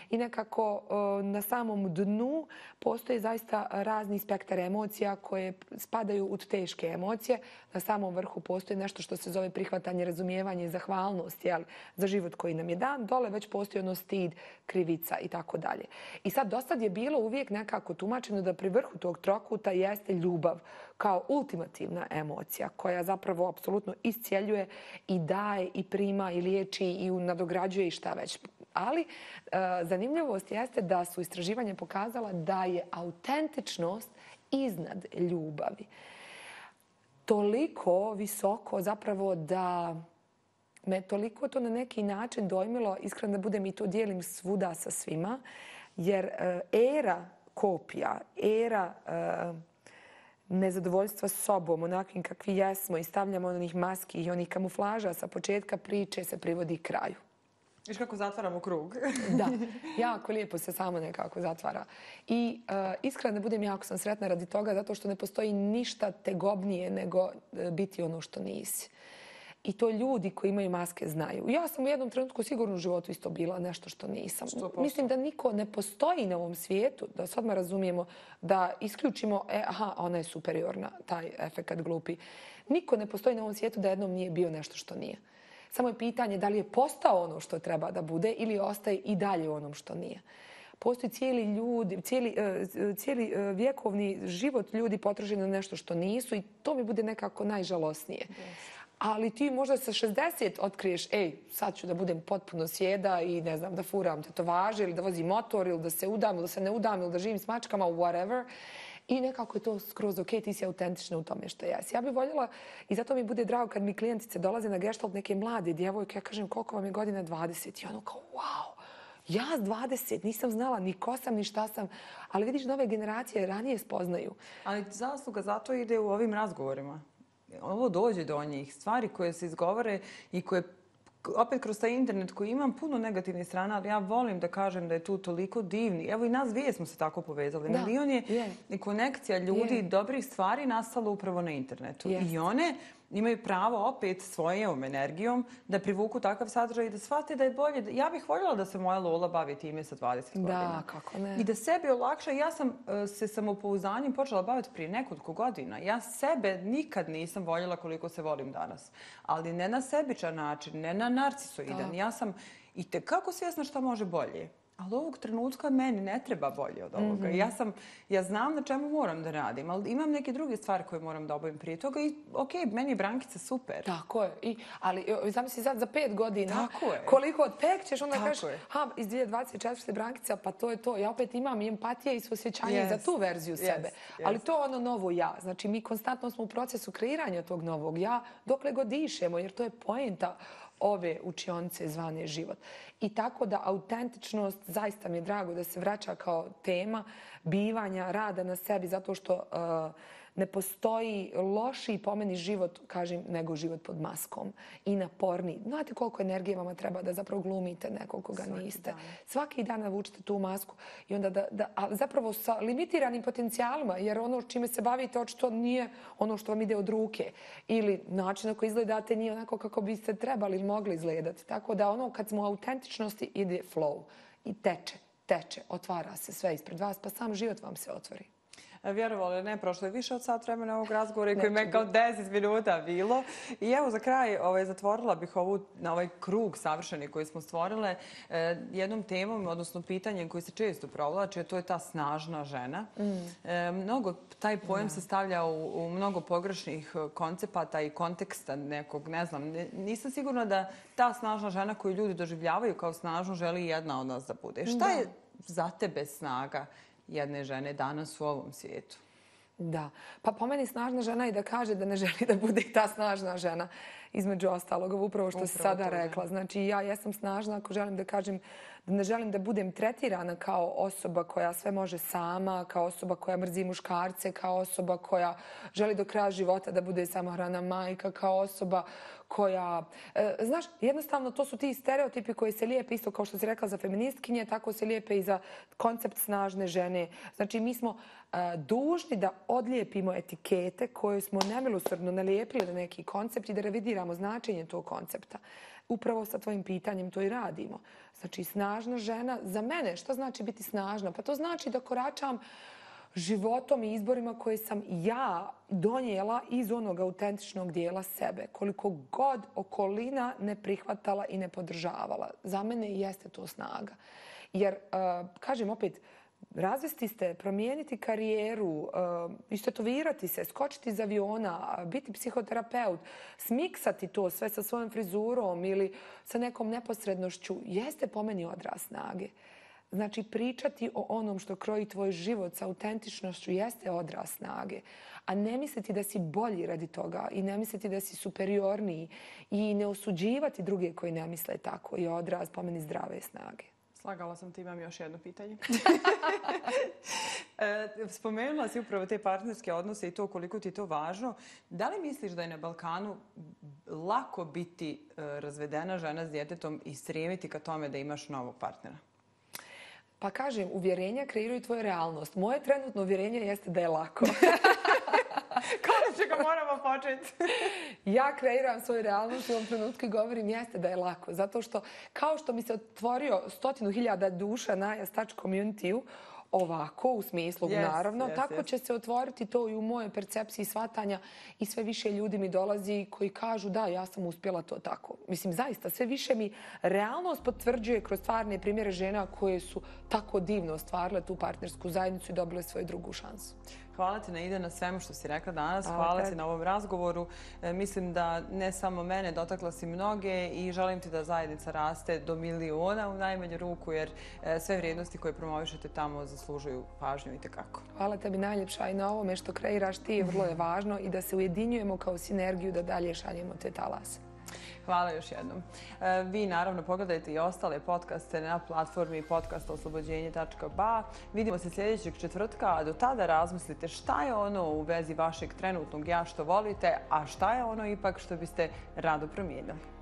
I nekako na samom dnu postoji zaista razni spektar emocija koje spadaju u teške emocije. Na samom vrhu postoji nešto što se zove prihvatanje, razumijevanje i zahvalnost za život koji nam je dan. Dole već postoji ono stid, krivica i tako dalje. I sad dosad je bilo uvijek nekako tumačeno da pri vrhu tog trokuta jeste ljubav kao ultimativna emocija koja zapravo apsolutno iscjeljuje i daje i prima i liječi i nadograđuje i šta već. Ali zanimljivost jeste da su istraživanja pokazala da je autentičnost iznad ljubavi. Toliko visoko zapravo da me toliko to na neki način dojmilo, iskreno da budem i to dijelim svuda sa svima, jer era kopija, era nezadovoljstva sobom, onakvim kakvi jesmo i stavljamo onih maski i onih kamuflaža sa početka priče se privodi kraju. Viš kako zatvaramo krug. Da, jako lijepo se samo nekako zatvara. I iskreno da budem, jako sam sretna radi toga zato što ne postoji ništa tegobnije nego biti ono što nisi. I to ljudi koji imaju maske znaju. Ja sam u jednom trenutku sigurno u životu isto bila nešto što nisam. sto posto. Mislim da niko ne postoji na ovom svijetu, da se odmah razumijemo, da isključimo, e, aha, ona je superiorna, taj efekat glupi. Niko ne postoji na ovom svijetu da jednom nije bio nešto što nije. Samo je pitanje da li je postao ono što treba da bude ili ostaje i dalje u onom što nije. Postoji cijeli, ljudi, cijeli, cijeli vjekovni život ljudi potrošeni na nešto što nisu i to mi bude nekako najžalosnije. Yes. Ali ti možda sa šezdeset otkriješ, ej, sad ću da budem potpuno sjeda i ne znam, da furam tetovaže ili da vozim motor ili da se udam ili da se ne udam ili da živim s mačkama, whatever. I nekako je to skroz ok, ti si autentična u tome što jesi. Ja bih voljela i zato mi bude drago kad mi klijentice dolaze na gestalt neke mlade djevojke, ja kažem koliko vam je godina dvadeset i ono kao wow, ja s dvadeset nisam znala ni ko sam ni šta sam, ali vidiš nove generacije ranije spoznaju. Ali zasluga zato ide u ovim razgovorima. Ovo dođe do njih. Stvari koje se izgovore i koje opet kroz taj internet koji imam puno negativnih strana, ali ja volim da kažem da je tu toliko divni. Evo i nas dvije smo se tako povezali. Da, milion je je. i konekcija ljudi, Je. dobrih stvari nastalo upravo na internetu. Jest. I one imaju pravo opet svojom energijom da privuku takav sadržaj i da shvate da je bolje. Ja bih voljela da se moja Lola bavi time sa dvadeset godina. Da, kako ne. I da sebi olakša. Ja sam uh, se samopouzdanjem počela baviti prije nekoliko godina. Ja sebe nikad nisam voljela koliko se volim danas. Ali ne na sebičan način, ne na narcisoidan. Da. Ja sam i tekako svjesna šta može bolje. ali ovog trenutka meni ne treba bolje od ovoga. Ja, sam, ja znam na čemu moram da radim, ali imam neke druge stvari koje moram da obavim prije toga i ok, meni je Brankica super. Tako je. I, ali zamisli sad za pet godina Tako je. koliko odpek ćeš, onda Tako kažeš, je. ha, iz dvije tisuće dvadeset četvrte. Brankica, pa to je to. Ja opet imam i empatije i suosjećanje Yes. za tu verziju Yes. sebe. Yes. Ali to je ono novo ja. Znači, mi konstantno smo u procesu kreiranja tog novog ja dokle god dišemo, jer to je poenta ove učionice zvane život. I tako da autentičnost, zaista mi je drago da se vraća kao tema bivanja, rada na sebi, zato što uh, ne postoji lošiji po meni život, kažem, nego život pod maskom i naporniji. Znate koliko energije vama treba da zapravo glumite nekog koga Svaki niste. dan. Svaki dan navučite tu masku i onda da, da, a zapravo sa limitiranim potencijalima, jer ono čime se bavite očito nije ono što vam ide od ruke ili način na koji izgledate nije onako kako biste trebali ili mogli izgledati. Tako da ono kad smo u autentičnosti ide flow i teče, teče, otvara se sve ispred vas, pa sam život vam se otvori. Vjerovali ne, prošlo je više od sat vremena ovog razgovora i koji me Neće kao deset minuta bilo. I evo za kraj ovaj, zatvorila bih ovu, na ovaj krug savršeni koji smo stvorile eh, jednom temom, odnosno pitanjem koji se često provlači, a to je ta snažna žena. Mm. Eh, mnogo, taj pojam se stavlja u, u mnogo pogrešnih koncepata i konteksta nekog, ne znam, ne, nisam sigurna da ta snažna žena koju ljudi doživljavaju kao snažnu želi jedna od nas da bude. Šta Da. je za tebe snaga jedne žene danas u ovom svijetu? Da. Pa po meni snažna žena i da kaže da ne želi da bude ta snažna žena. Između ostalog, upravo što si Upravo sada to, da. rekla. Znači, ja jesam snažna ako želim da kažem da ne želim da budem tretirana kao osoba koja sve može sama, kao osoba koja mrzi muškarce, kao osoba koja želi do kraja života da bude samohrana majka, kao osoba koja... E, znaš, jednostavno to su ti stereotipi koji se lijepe isto kao što si rekla za feministkinje, tako se lijepe i za koncept snažne žene. Znači, mi smo e, dužni da odlijepimo etikete koje smo nemilosrdno nalijepili na neki koncept i da revidiramo značenje tog koncepta. Upravo sa tvojim pitanjem to i radimo. Znači, snažna žena, za mene, što znači biti snažna? Pa to znači da koračam životom i izborima koje sam ja donijela iz onog autentičnog dijela sebe. Koliko god okolina ne prihvatala i ne podržavala. Za mene jeste to snaga. Jer, uh, kažem opet, razvesti ste, promijeniti karijeru, uh, istetovirati se, skočiti iz aviona, biti psihoterapeut, smiksati to sve sa svojom frizurom ili sa nekom neposrednošću, jeste po meni odraz snage. Znači, pričati o onom što kroji tvoj život sa autentičnošću jeste odraz snage. A ne misliti da si bolji radi toga i ne misliti da si superiorniji i ne osuđivati druge koji ne misle tako je odraz po meni zdrave snage. Slagala sam ti, imam još jedno pitanje. Spomenula si upravo te partnerske odnose i to koliko ti je to važno. Da li misliš da je na Balkanu lako biti razvedena žena s djetetom i stremiti ka tome da imaš novog partnera? Pa kažem, uvjerenja kreiraju tvoju realnost. Moje trenutno uvjerenje jeste da je lako. Konačno ga moramo početi. Ja kreiram svoju realnost u ovom trenutku i govorim jeste da je lako. Zato što kao što mi se otvorio stotinu hiljada duša na Touch Community-u, ovako, u smislu, yes, naravno, yes, tako yes. će se otvoriti to i u mojoj percepciji shvatanja i sve više ljudi mi dolazi koji kažu da, ja sam uspjela to tako. Mislim, zaista, sve više mi realnost potvrđuje kroz stvarne primjere žena koje su tako divno ostvarile tu partnersku zajednicu i dobile svoju drugu šansu. Hvala ti, Naida, na svemu što si rekla danas. Hvala Hvala tebi. ti na ovom razgovoru. E, mislim da ne samo mene, dotakla si mnoge i želim ti da zajednica raste do miliona u najmanju ruku, jer e, sve vrijednosti koje promovišete tamo zaslužuju pažnju i tekako. Hvala tebi najljepša i na ovome što kreiraš ti, vrlo je važno i da se ujedinjujemo kao sinergiju da dalje šaljemo te talase. Hvala još jednom. E, vi naravno pogledajte i ostale podcaste na platformi podcast oslobođenje tačka b a. Vidimo se sljedećeg četvrtka, a do tada razmislite šta je ono u vezi vašeg trenutnog ja što volite, a šta je ono ipak što biste rado promijenili.